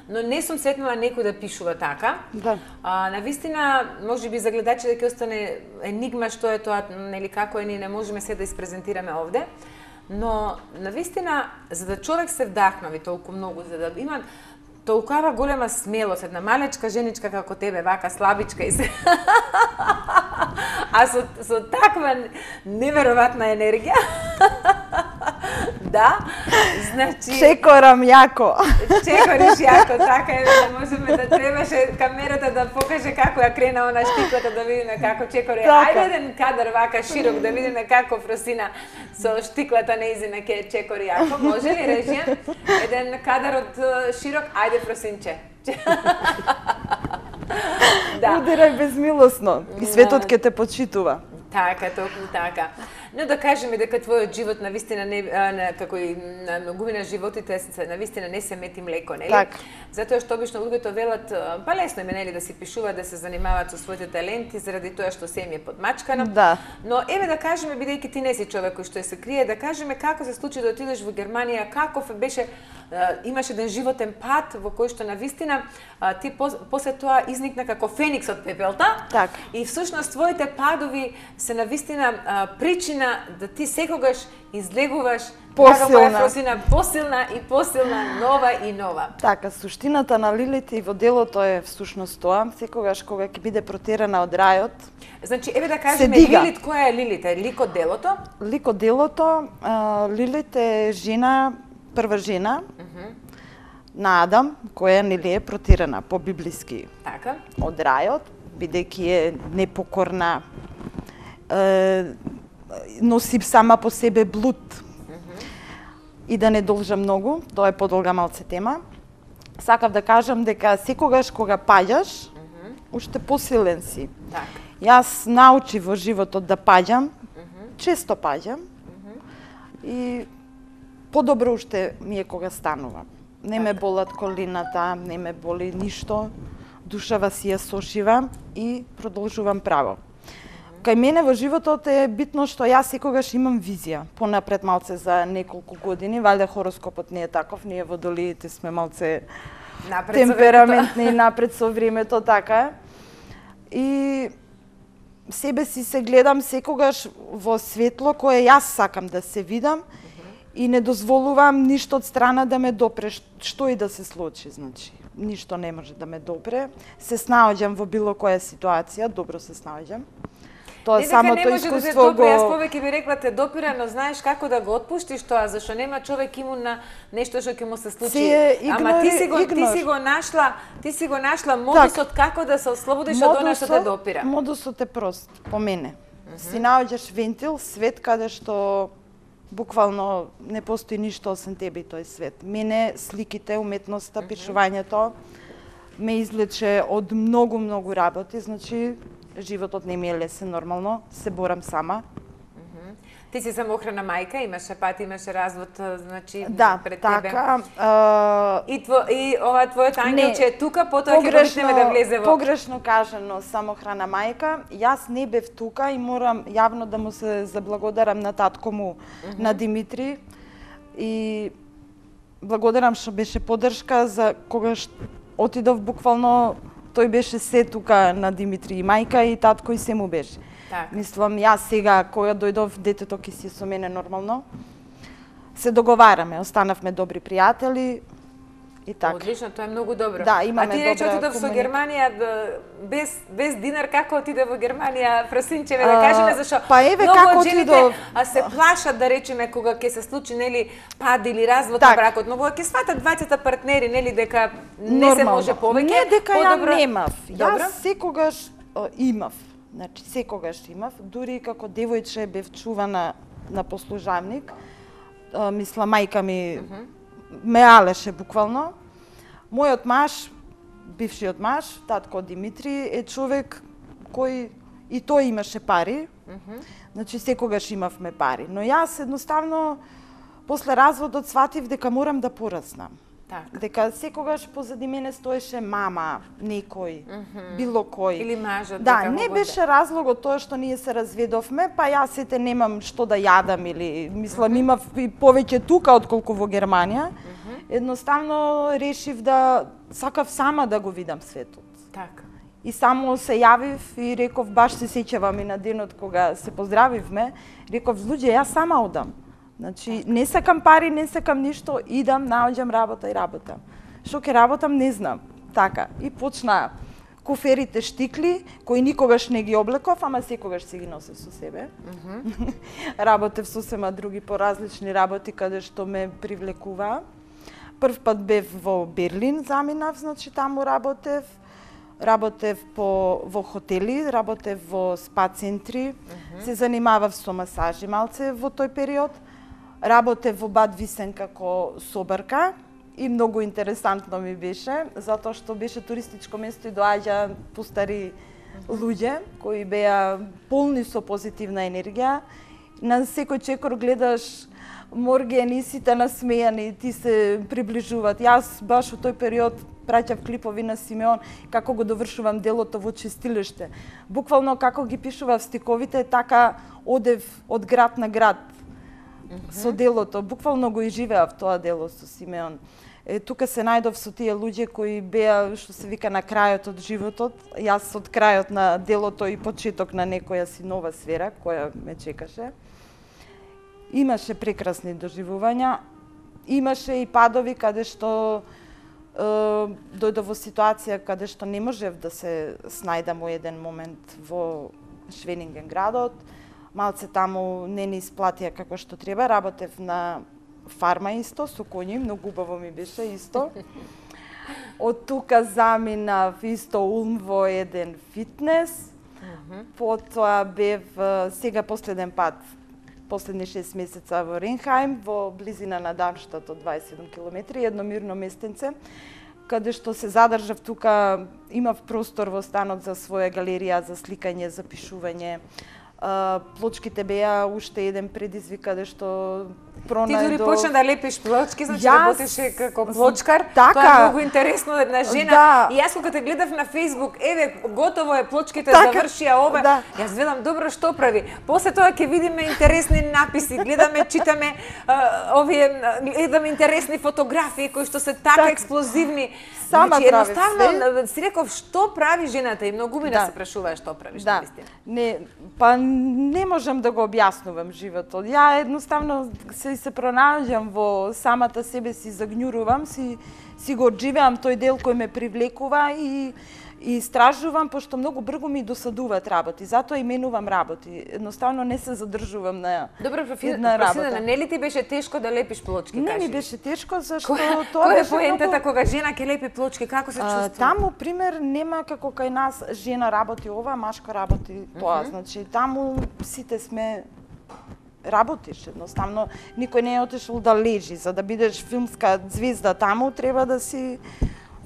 но не сум сретнала некој да пишува така. Да. А, навистина, може би за гледачите ќе остане енигма што е тоа, нели како е, ние не можеме се да испрезентираме овде. Но навистина, за да човек се вдахнови толку многу, за да има толкова голема смелост, една малечка женичка како тебе, вака слабичка и се... а со, со таква неверојатна енергија. Да, значи... Чекорам јако. Чекориш јако, така е, да можеме да требаше камерата да покаже како ја крена она штиклата, да видиме како чекори. Така. Ајде еден кадар вака широк, да видиме како Фросина со штиклата неизина ке чекори јако. Може ли, режија? Еден кадар од uh, широк, ајде Фросинче. Да. Удирај безмилосно и светот ќе те почитува. Така, токму така. Но да кажеме дека твојот живот навистина не на, како и на многумина животите се навистина не се мети млеко, нели? Так. Затоа што обично луѓето велат па лесно е нели да си пишуваат, да се занимаваат со своите таленти заради тоа што се им е подмачкано. Да. Но еве да кажеме, бидејќи ти не си човек кој што се крие, да кажеме како се случи да отидеш во Германија, каков беше имаш еден животен пат во кој што навистина ти после тоа изникна како феникс од пепелта. Так. И всушност твоите падови се навистина причина да ти секогаш излегуваш посилна, Фросина, посилна и посилна, нова и нова. Така, суштината на Лилит и во делото е всушност тоа, секогаш кога ќе биде протерана од рајот. Значи, еве да кажеме Лилит, која е Лилит? Е лик од делото? Лик од делото, а, Лилит е жена, прва жена uh -huh. на Адам, која нели е протерана по библиски така од рајот, бидејќи е непокорна, е, носи сама по себе блуд. Mm-hmm. И да не должам многу, тоа е подолга малце тема. Сакав да кажам дека секогаш кога паѓаш, mm-hmm. уште посилен си. Так. Јас научив во животот да паѓам, mm-hmm. често паѓам, mm-hmm. и подобро уште ми е кога станувам. Не ме болат колината, не ме боли ништо, душава си ја сошивам и продолжувам право. Кај мене во животот е битно што јас секогаш имам визија. Понапред малце за неколку години, валјда хороскопот не е таков, ние водолиите сме малце напред темпераментни и напред со времето, така е. И себе си се гледам секогаш во светло кое јас сакам да се видам, и не дозволувам ништо од страна да ме допре, што и да се случи, значи. Ништо не може да ме допре. Се снаоѓам во било која ситуација, добро се снаоѓам. Тоа самото искуство го... Јас повеќе би рекла те допира, но знаеш како да го отпуштиш тоа, зашто нема човек имун на нешто што ќе му се случи. Игнори, Ама ти си го игнор. ти си го нашла, ти си го нашла модусот так. Како да се ослободиш од она што те допира. Модусот е прост, по мене. Mm -hmm. Си наоѓаш вентил, свет каде што буквално не постои ништо освен тебе и тој свет. Мене сликите, уметноста, mm -hmm. пишувањето ме излече од многу многу работи, значи животот не ми е лесен нормално, се борам сама. Mm-hmm. Ти си самохрана мајка, имаше пат, имаше развод, значи да, пред така, тебе. А... И, тво, и ова твојот ангелче е тука, потоа ќе почнеме да влезе во... Погрешно кажано, самохрана мајка. Јас не бев тука и морам јавно да му се заблагодарам на татко му, mm-hmm. на Димитри. И благодарам што беше поддршка за когаш отидов буквално. Тој беше се тука на Димитри и мајка и татко и се му беше. Так. Мислам, јас сега, која дојдов, детето ќе си со мене нормално. Се договараме, останавме добри пријатели и така. Одлично, тоа е многу добро. Да, имаме добра комуника. А ти рече отидов со Германија без без динар, како отиде во Германија, Фросинчеве, да кажеме зашо. Па еве како отидов. А се плашат да речеме кога ќе се случи нели пад или развод на бракот, но кога ќе сватат двајцата партнери нели дека не нормално се може повеќе. Не дека подобро... ја немав. Јас секогаш о, имав. Значи секогаш имав, дури како девојче бев чувана на послужавник. А, мисла мајка ми uh-huh. ме алеше буквално. Мојот маж, бившиот маж, татко Димитри, е човек кој и тој имаше пари. Uh-huh. Значи секогаш имавме пари, но јас едноставно после разводот сватив дека морам да пораснам. Така. Дека секогаш позади мене стоеше мама, некој, mm -hmm. било кој. Или мажот. Да, не беше разлогот тоа што ние се разведовме, па јас сите немам што да јадам или мислам mm -hmm. имав и повеќе тука отколку во Германија. Mm -hmm. Едноставно решив да сакав сама да го видам светот. Така. И само се јавив и реков, баш се сеќавам и на денот кога се поздравивме, реков, луѓе, јас сама одам. Значи, не сакам пари, не сакам ништо, идам, наоѓам работа и работам. Што ќе работам, не знам. Така, и почна коферите штикли, кои никогаш не ги облеков, ама секогаш си ги носев со себе. Mm -hmm. Работев сосема други поразлични работи каде што ме привлекува. Прв пат бев во Берлин, заминав, значи таму работев. Работев по, во хотели, работев во спа центри, mm -hmm. се занимавав со масажи малце во тој период. Работев во Бад Висен како собарка и многу интересантно ми беше, затоа што беше туристичко место и доаѓа постари луѓе кои беа полни со позитивна енергија. На секој чекор гледаш моргени, сите насмејани, ти се приближуваат. Јас баш во тој период праќав клипови на Симеон како го довршувам делото во чистилиште. Буквално како ги пишував стиковите, така одев од град на град. Mm -hmm. Со делото, буквално го изживеав тоа дело со Симеон. Е, тука се најдов со тие луѓе кои беа, што се вика, на крајот од животот. Јас од крајот на делото и почеток на некоја си нова сфера која ме чекаше. Имаше прекрасни доживувања, имаше и падови каде што е, дојдов во ситуација каде што не можев да се снајдам во еден момент во Швенинген градот. Малце таму не ни исплатија како што треба, работев на фарма исто, со коњи, многу убаво ми беше исто. Од тука заминав исто Улм во еден фитнес, mm -hmm. потоа бев сега последен пат, последни шест месеца во Ренхаим, во близина на Дармштат од дваесет и седум километри, едно мирно местенце, каде што се задржав тука, имав простор во станот за своја галерија, за сликање, за пишување. Uh, плочките беа уште еден предизвик каде што пронајдов. Ти дури почна да лепиш плочки, значи јас... работеше како плочкар. Така. Тоа е многу интересно една жена. Да. И јас кога те гледав на Facebook, еве готово е, плочките така. Завршија ова. Да. Јас велам добро што прави. После тоа ќе видиме интересни написи, гледаме, читаме uh, овие гледаме интересни фотографии кои што се така, така. експлозивни. Сама значи, прави едноставно си реков што прави жената и многу ми да, да се прашуваа што правиш да. Навистина. Не, па не можам да го објаснувам животот. Ја едноставно се се пронаоѓам во самата себе си, загњурувам, си си го одживеам тој дел кој ме привлекува и и истражувам, пошто многу брзо ми досадуваат работи, затоа именувам работи. Едноставно не се задржувам на Добро, една работа. Добро, не ли ти беше тешко да лепиш плочки, не кажи? Не ми беше тешко, зашто Кој, тоа кој беше е поентата многу... кога жена ќе лепи плочки, како се чувствува? Таму, пример, нема како кај нас жена работи ова, машка работи тоа. Uh -huh. Значи, таму сите сме работиш, едноставно никој не е отишол да лежи. За да бидеш филмска звезда таму, треба да си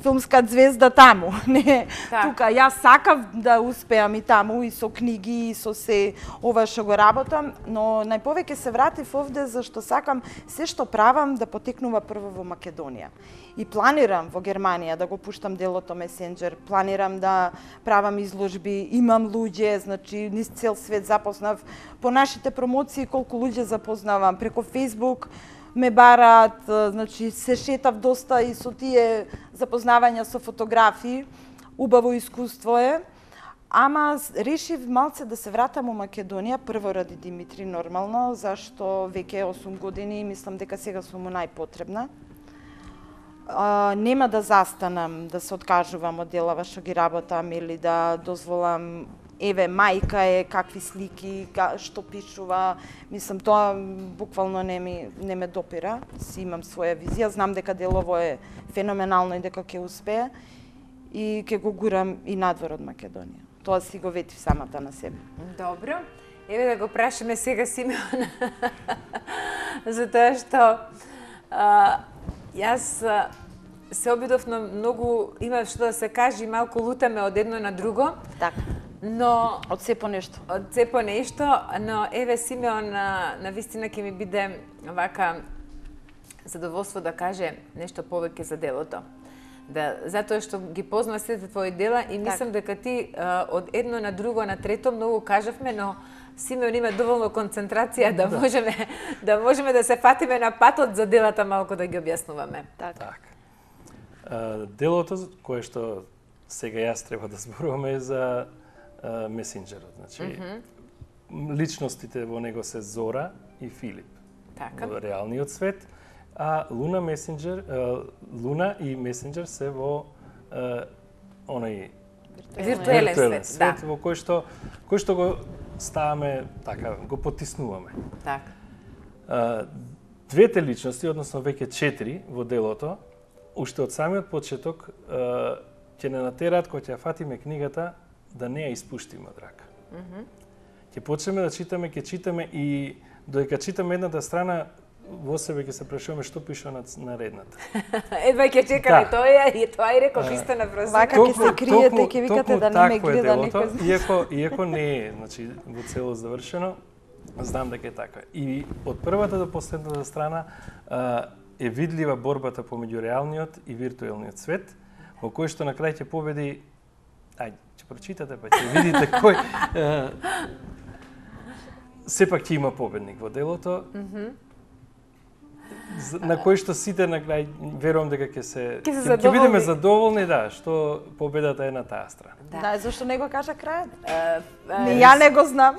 филмска звезда таму. Не, так. Тука јас сакав да успеам и таму и со книги и со се ова што го работам, но најповеќе се вратив овде зашто сакам се што правам да потекнува прво во Македонија. И планирам во Германија да го пуштам делото Месенџер, планирам да правам изложби, имам луѓе, значи низ цел свет запознав по нашите промоции колку луѓе запознавам преку Facebook. Ме бараат, значи се шетав доста и со тие запознавања со фотографии. Убаво искуство е. Ама решив малце да се вратам у Македонија, прво ради Димитри нормално, зашто веќе осум години и мислам дека сега сум му најпотребна. А, нема да застанам, да се откажувам од делава што ги работам или да дозволам еве, мајка е, какви слики, што пишува. Мислам, тоа буквално не, ми, не ме допира. Си имам своја визија, знам дека делово е феноменално и дека ќе успее. И ќе го гурам и надвор од Македонија. Тоа си го ветив самата на себе. Добро. Еве да го прашаме сега Симеон. Затоа што а, јас а, се обидов на многу, има што да се каже, малку лутаме од едно на друго. Така. Но од се по нешто. Од се по нешто, но еве Симеон на, на вистина ќе ми биде вака задоволство да каже нешто повеќе за делото. Да, затоа што ги познава сите твои дела и мислам дека ти а, од едно на друго на трето многу кажавме, но Симеон има доволно концентрација да, да можеме да можеме да се фатиме на патот за делата малку да ги објаснуваме. Так. так. А, делото кое што сега јас треба да зборуваме е за а, месенџерот. Значи, mm -hmm. личностите во него се Зора и Филип. Така. Во реалниот свет, а Луна месенџер, Луна и месенџер се во а, онај виртуелен свет, свет да. во кој што кој што го ставаме така, го потиснуваме. Така. А, двете личности, односно веќе четири во делото, уште од самиот почеток а, ќе не натераат кога ќе ја фатиме книгата да не ја испуштиме од рака. Mm -hmm. Ќе почнеме да читаме, ќе читаме и додека читаме едната страна, во себе ќе се прашуваме што пише на наредната. Едва ќе чекаме да. Тоа и тоа и реков исто на прозор. Вака ќе се криете, ќе викате да не ме гледа никој. Иако иако не е, значи во целост завршено, знам дека е така. И од првата до последната страна а, е видлива борбата помеѓу реалниот и виртуелниот свет, во кој што на крај ќе победи. Ајде, ќе прочитате па ќе видите кој а, сепак ќе има победник во делото. Mm -hmm. На кој што сите на крај верувам дека ќе се ќе, ќе бидеме задоволни, да, што победата е на таа страна. Да, да, зашто не го кажа крајот? Uh, uh, не, ја не го знам.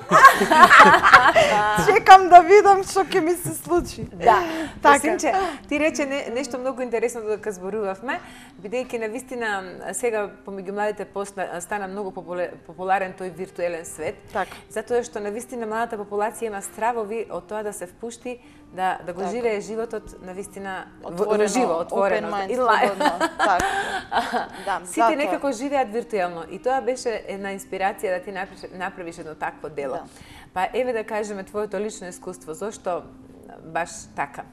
Чекам да видам што ќе ми се случи. Да. Така. Синче, ти рече не, нешто многу интересно додека зборувавме, бидејќи навистина сега помеѓу младите постана, стана многу популарен тој виртуелен свет. Така. Затоа што навистина младата популација има стравови од тоа да се впушти да да го так. живее животот навистина отворено, живо, отворено mind, и слободно. Така. Да, сите затоа некако живеат виртуелно и тоа беше една инспирација да ти направиш, направиш едно такво дело. Да. Па еве да кажеме твоето лично искуство, зошто баш така?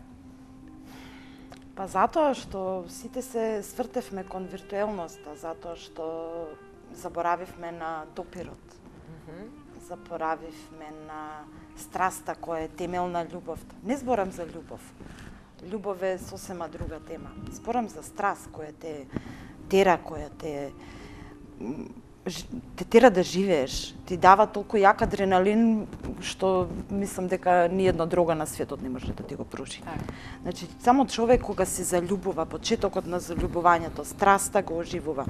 Па затоа што сите се свртевме кон виртуелноста, затоа што заборавивме на допирот. Mm -hmm. Заборавивме на страста која е темел на љубовта. Не зборам за љубов. Љубов е сосема друга тема. Зборам за страст која те тера, која те те тера да живееш. Ти дава толку јак адреналин што мислам дека ни една дрога на светот не може да ти го пружи. Значи, само човек кога се заљубува, почетокот на заљубувањето, страста го оживува.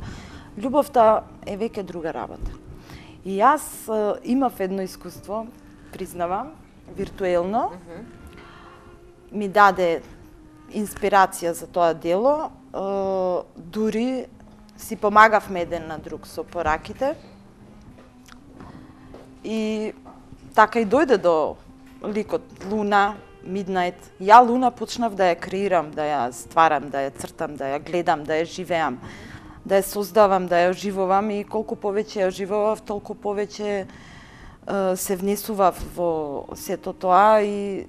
Љубовта е веќе друга работа. И јас е, имав едно искуство, признавам, виртуелно, mm -hmm. ми даде инспирација за тоа дело, е, дури си помагавме еден на друг со пораките и така и дојде до ликот Луна, Midnight. Ја Луна почнав да ја креирам, да ја стварам, да ја цртам, да ја гледам, да ја живеам, да ја создавам, да ја оживувам и колку повеќе ја оживував, толку повеќе се внесував во сето тоа и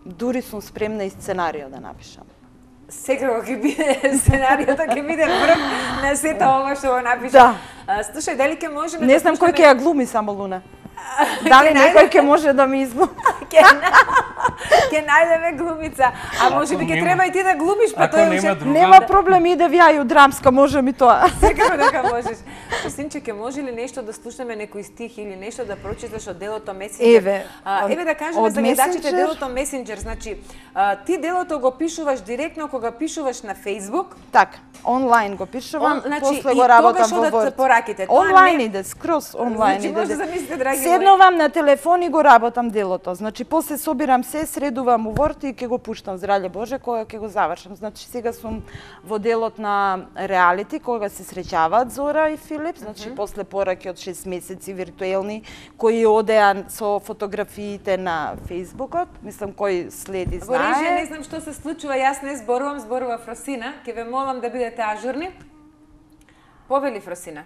дури сум спремна и сценарио да напишам. Секако ќе биде сценариото, ќе биде врв на сето ова што го напишам. Да. Слушај, дали ќе можеме Не знам кој ќе ја глуми само Луна. Дали некој ќе може да ми изглуми? Ќе најдеме глумица. А може би ќе треба и ти да глумиш, па тоа нема, уште... нема проблем, иде вјају драмска, може ми тоа. Секако дека можеш. Синче, ќе може ли нешто да слушнеме некој стих или нешто да прочиташ од делото Месенџер? Еве, а, еве да кажеме за гледачите делото Месенџер, значи а, ти делото го пишуваш директно кога пишуваш на Facebook? Така, онлайн го пишувам, Он, значи, после го работам во Word. Пораките. Онлайн не... иде, скроз онлайн значи, иде. може да замислите, драги Седнувам на телефон и го работам делото. Значи, после собирам се, средувам у Word и ќе го пуштам, здравје Боже, кога ќе го завршам. Значи, сега сум во делот на реалити, кога се среќаваат Зора и Филип, значи, mm -hmm. после пораки од шест месеци виртуелни, кои одеа со фотографиите на Фејсбукот, мислам, кој следи знае. Во режија не знам што се случува, јас не зборувам, зборува Фросина, ќе ве молам да бидете ажурни. Повели Фросина.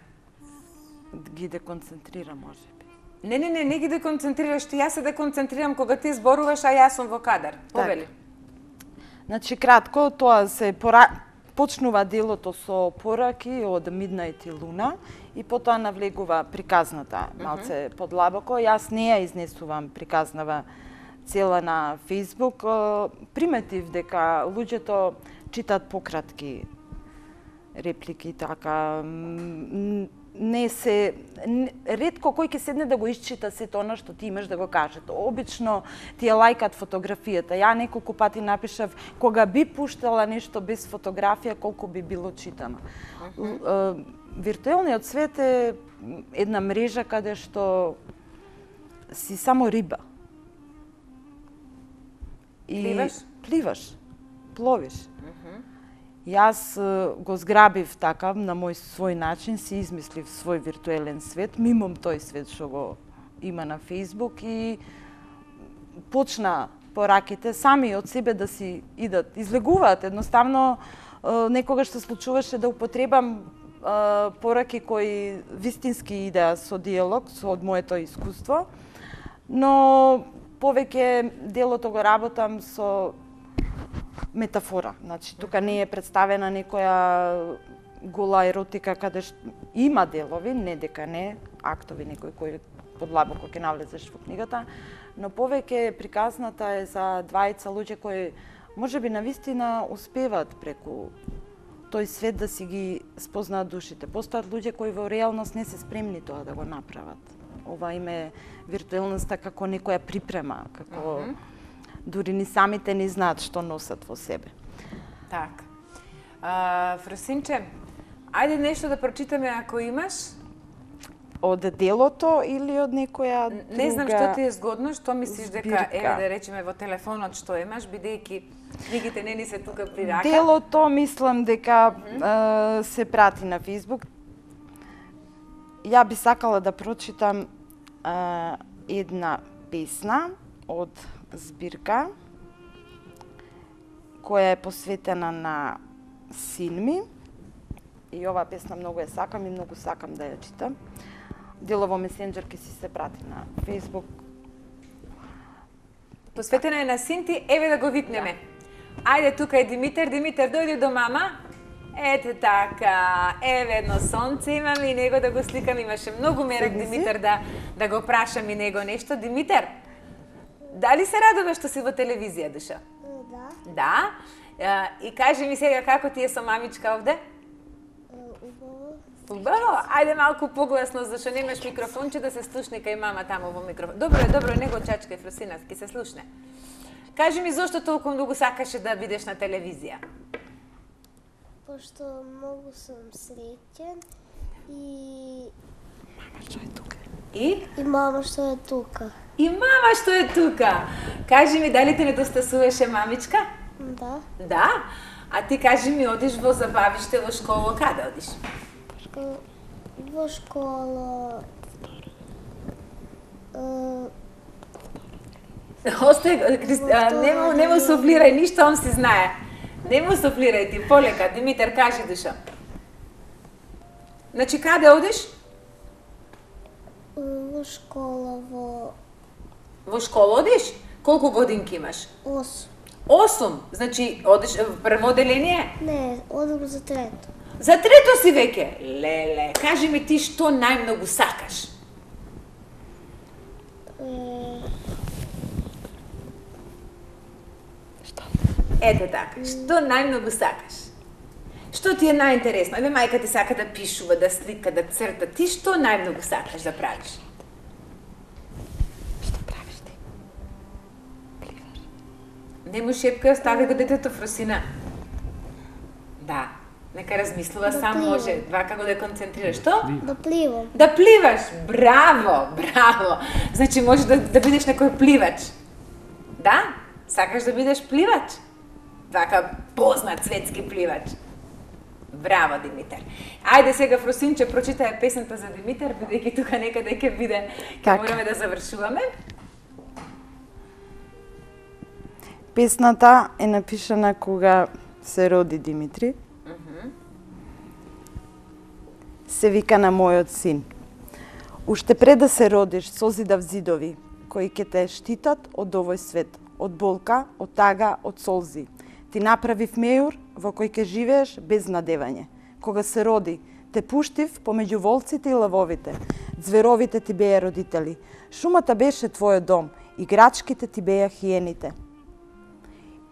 Ги деконцентрира, може би. Не, не, не, не ги деконцентрираш ти, јас се деконцентрирам кога ти зборуваш, а јас сум во кадар. Повели. Так. Значи, кратко, тоа се пора... почнува делото со пораки од Midnight и Луна и потоа навлегува приказната малце mm -hmm. подлабоко. Јас не ја изнесувам приказнава цела на Facebook, приметив дека луѓето читаат пократки реплики, така, не се, ретко кој ќе седне да го исчита сето она што ти имаш да го кажеш. Обично ти ја лајкат фотографијата. Ја неколку пати напишав, кога би пуштала нешто без фотографија, колку би било читано. Uh-huh. Виртуелниот свет е една мрежа каде што си само риба. И пливаш? Пливаш, пловиш. Јас го зграбив така, на мој свој начин, си измислив свој виртуелен свет, мимом тој свет што го има на Facebook и почна пораките сами од себе да си идат, излегуваат. Едноставно, некогаш се случуваше да употребам пораки кои вистински идеа со диалог, со од моето искуство, но повеќе делото го работам со метафора. Значи, тука не е представена некоја гола еротика каде ш... има делови, не дека не, актови некои кои подлабоко ќе навлезеш во книгата, но повеќе приказната е за двајца луѓе кои можеби навистина успеваат преку тој свет да си ги спознаат душите. Постојат луѓе кои во реалност не се спремни тоа да го направат. Ова им е виртуелноста како некоја припрема, како uh-huh. дури ни самите не знаат што носат во себе. Так. А, Фросинче, ајде нешто да прочитаме ако имаш. Од делото или од некоја друга... Не знам што ти е згодно, што мислиш дека, збирка. еве да речеме во телефонот што имаш, бидејќи книгите не ни се тука при рака. Делото мислам дека mm-hmm. е, се прати на Facebook. Ја би сакала да прочитам е, една песна од збирка која е посветена на син ми. И оваа песна многу ја сакам и многу сакам да ја читам. Делово месенџер ќе си се прати на Facebook. Посветена е на син ти, еве да го викнеме. Да. Ајде, тука е Димитар. Димитар, дојди до мама. Ете така, еве едно сонце имам и него да го сликам. Имаше многу мерак Димитар да, да го прашам и него нешто. Димитар, дали се радуваш што си во телевизија, душа? Да. Да? И кажи ми сега како ти е со мамичка овде? Убаво, ајде малку погласно, зашто немаш микрофонче да се слушне кај мама таму во микрофон. Добро е, добро е, него чачкај, Фросина, ќе се слушне. Кажи ми зошто толку многу сакаше да бидеш на телевизија? Пошто многу сум среќен и... Мама што е тука. И? И мама што е тука. И мама што е тука. Кажи ми, дали те недостасуваше мамичка? Да. Да? А ти кажи ми, одиш во забавиште во школа, каде одиш? Во школа... Остај, не му, не му суфлирај, ништо он си знае. Не му суфлирај ти, полека. Димитар, кажи, душа. Значи, каде одиш? Во школа, во... Во школа одиш? Колку годинки имаш? Осум. Осум? Значи, одиш в прво оделение? Не, одам за трето. За трето си веќе? Леле, кажи ми ти што најмногу сакаш? Ете така, што најмногу сакаш? Што ти е најинтересно? Еве мајка ти сака да пишува, да слика, да црта. Ти што најмногу сакаш да правиш? Што правиш ти? Пливаш. Не му шепка, остави го детето, Фросина. Да, нека размислува, Да сам пливам. може. Вака го да концентрираш. Што? Да пливам. Да пливаш! Браво! Браво! Значи може да, да бидеш некој пливач. Да? Сакаш да бидеш пливач? Вака познат светски пливач. Браво, Димитар. Ајде сега, Фросинче, прочитај песната за Димитар, бидејќи тука некаде ќе биде, ќе Така. мораме да завршуваме. Песната е напишана кога се роди Димитри. Се вика на мојот син. Уште пред да се родиш, созидав зидови, кои ќе те штитат од овој свет, од болка, од тага, од солзи. Ти направив мејур во кој ќе живееш без надевање. Кога се роди, те пуштив помеѓу волците и лавовите. Зверовите ти беа родители. Шумата беше твојот дом играчките ти беа хиените.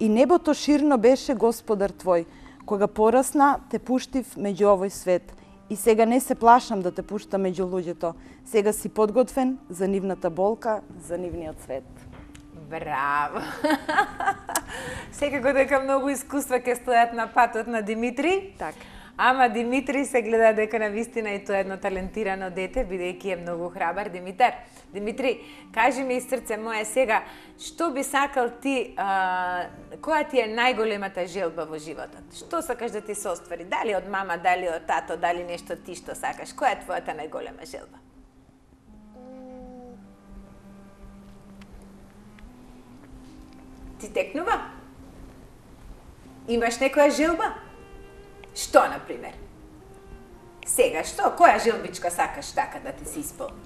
И небото ширно беше Господар твој, кога порасна те пуштив меѓу овој свет. И сега не се плашам да те пуштам меѓу луѓето. Сега си подготвен за нивната болка, за нивниот свет. Браво! Секако дека многу искуства ќе стојат на патот на Димитри. Така. Ама Димитри се гледа дека на вистина и тоа е едно талентирано дете, бидејќи е многу храбар. Димитар, Димитри, кажи ми из срце мое сега, што би сакал ти, а, која ти е најголемата желба во животот? Што сакаш да ти се оствари? Дали од мама, дали од тато, дали нешто ти што сакаш? Која е твојата најголема желба? Ти текнува? Имаш некоја желба? Што, например? Сега, што? Која желбичка сакаш така да ти се исполни?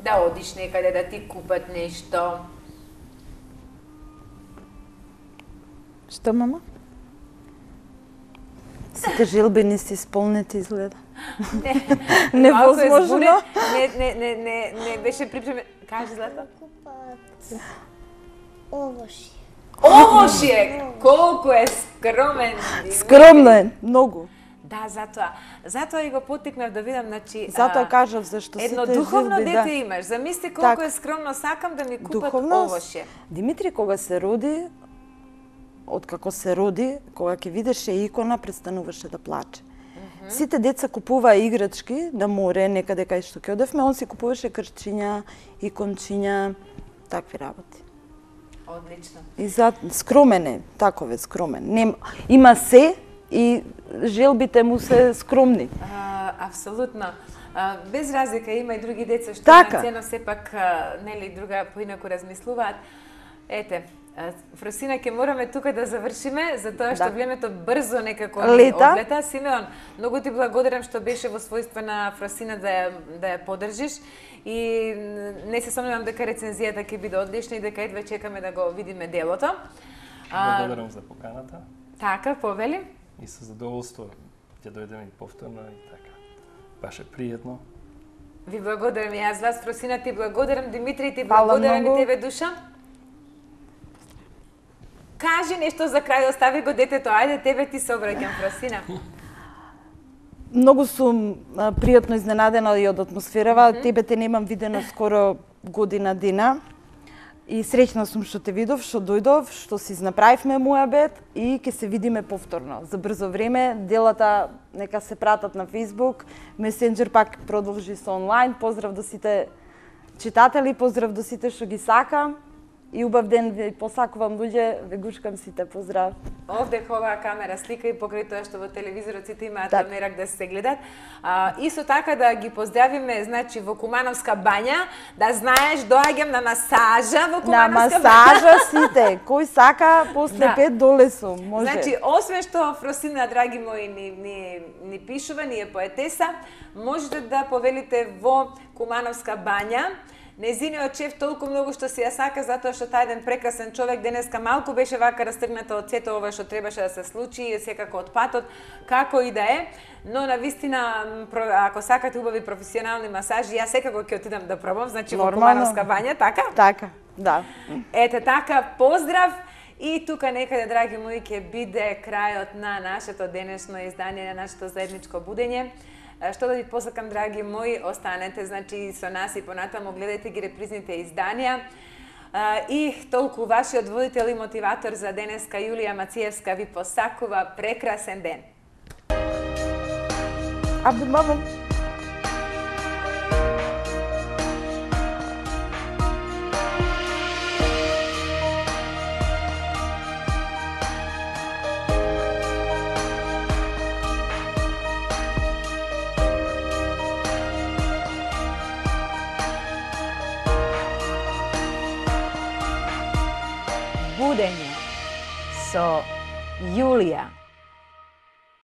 Да одиш некаде, да ти купат нешто. Што, мама? Сите желби не се исполнети, изгледа. Не, Невозможно. Не, не, не, не, не беше припремен. Кажи, Злата. Купат овошје. Овошје! Колку е скромен. Скромно е, многу. Да, затоа. Затоа и го потикнав да видам, значи... Затоа а, кажав зашто сите едно желби, духовно дете да. имаш. Замисли колку Так. е скромно, сакам да ми купат Духовност. овошје. Димитри кога се роди, откако се роди, кога ќе видеше икона, престануваше да плаче. Сите деца купуваа играчки на море, некаде кај што ќе одевме, он си купуваше крчиња, икончиња, такви работи. Одлично. И за скромен е, таков е скромен. Нем, има се и желбите му се скромни. А, апсолутно. А, без разлика има и други деца што Така. на цена сепак а, нели друга поинаку размислуваат. Ете, а, Фросина, ќе мораме тука да завршиме, затоа што Да. времето брзо некако ни Лета. одлета. Симеон, многу ти благодарам што беше во својство на Фросина да ја, да ја поддржиш и не се сомневам дека рецензијата ќе биде одлична и дека едва чекаме да го видиме делото. А, Благодарам за поканата така, повели. и со задоволство ќе дојдеме и повторно и така. Баше пријатно. Ви благодарам и јас, вас, Фросина, ти благодарам, Димитри, ти Фала благодарам многу. и тебе, Душа. Кажи нешто за крај, остави го детето, ајде, тебе ти се обраќам, Фросина. Многу сум а, пријатно изненадена и од атмосферава. Mm-hmm. Тебе те немам видено скоро година дена. И среќна сум што те видов, што дојдов, што си направивме муабет и ќе се видиме повторно. За брзо време, делата нека се пратат на Facebook, Messenger пак продолжи со онлайн. Поздрав до сите читатели, поздрав до сите што ги сакам. И убав ден ви посакувам луѓе, ве гушкам сите, поздрав. Овде ховаа камера слика и покрај тоа што во телевизорот сите имаат Так. мерак да се гледат. А, исто така да ги поздравиме, значи, во Кумановска бања, да знаеш, доаѓам на масажа во На Кумановска бања. масажа сите, кој сака после Да. пет доле сум, може. Значи, освен што Фросина, драги мои, ни, ни, ни пишува, ни е поетеса, можете да повелите во Кумановска бања. Незиниот шеф толку многу што си ја сака, затоа што тај еден прекрасен човек денеска малку беше вака растргната од сето ова што требаше да се случи, и секако од патот, како и да е. Но на вистина, про- ако сакате убави професионални масажи, јас секако ќе отидам да пробам, значи во Нормално. Кумановска бања, така? Така, да. Ете така, поздрав! И тука некаде, драги мои, ќе биде крајот на нашето денешно издание, на нашето заедничко будење. Што да ви посакам, драги мои, останете, значи, со нас и понатаму, гледајте ги репризните изданија. И толку вашиот водител и мотиватор за денеска, Јулија Мациевска, ви посакува прекрасен ден. Абе, мамо. Будење со Јулија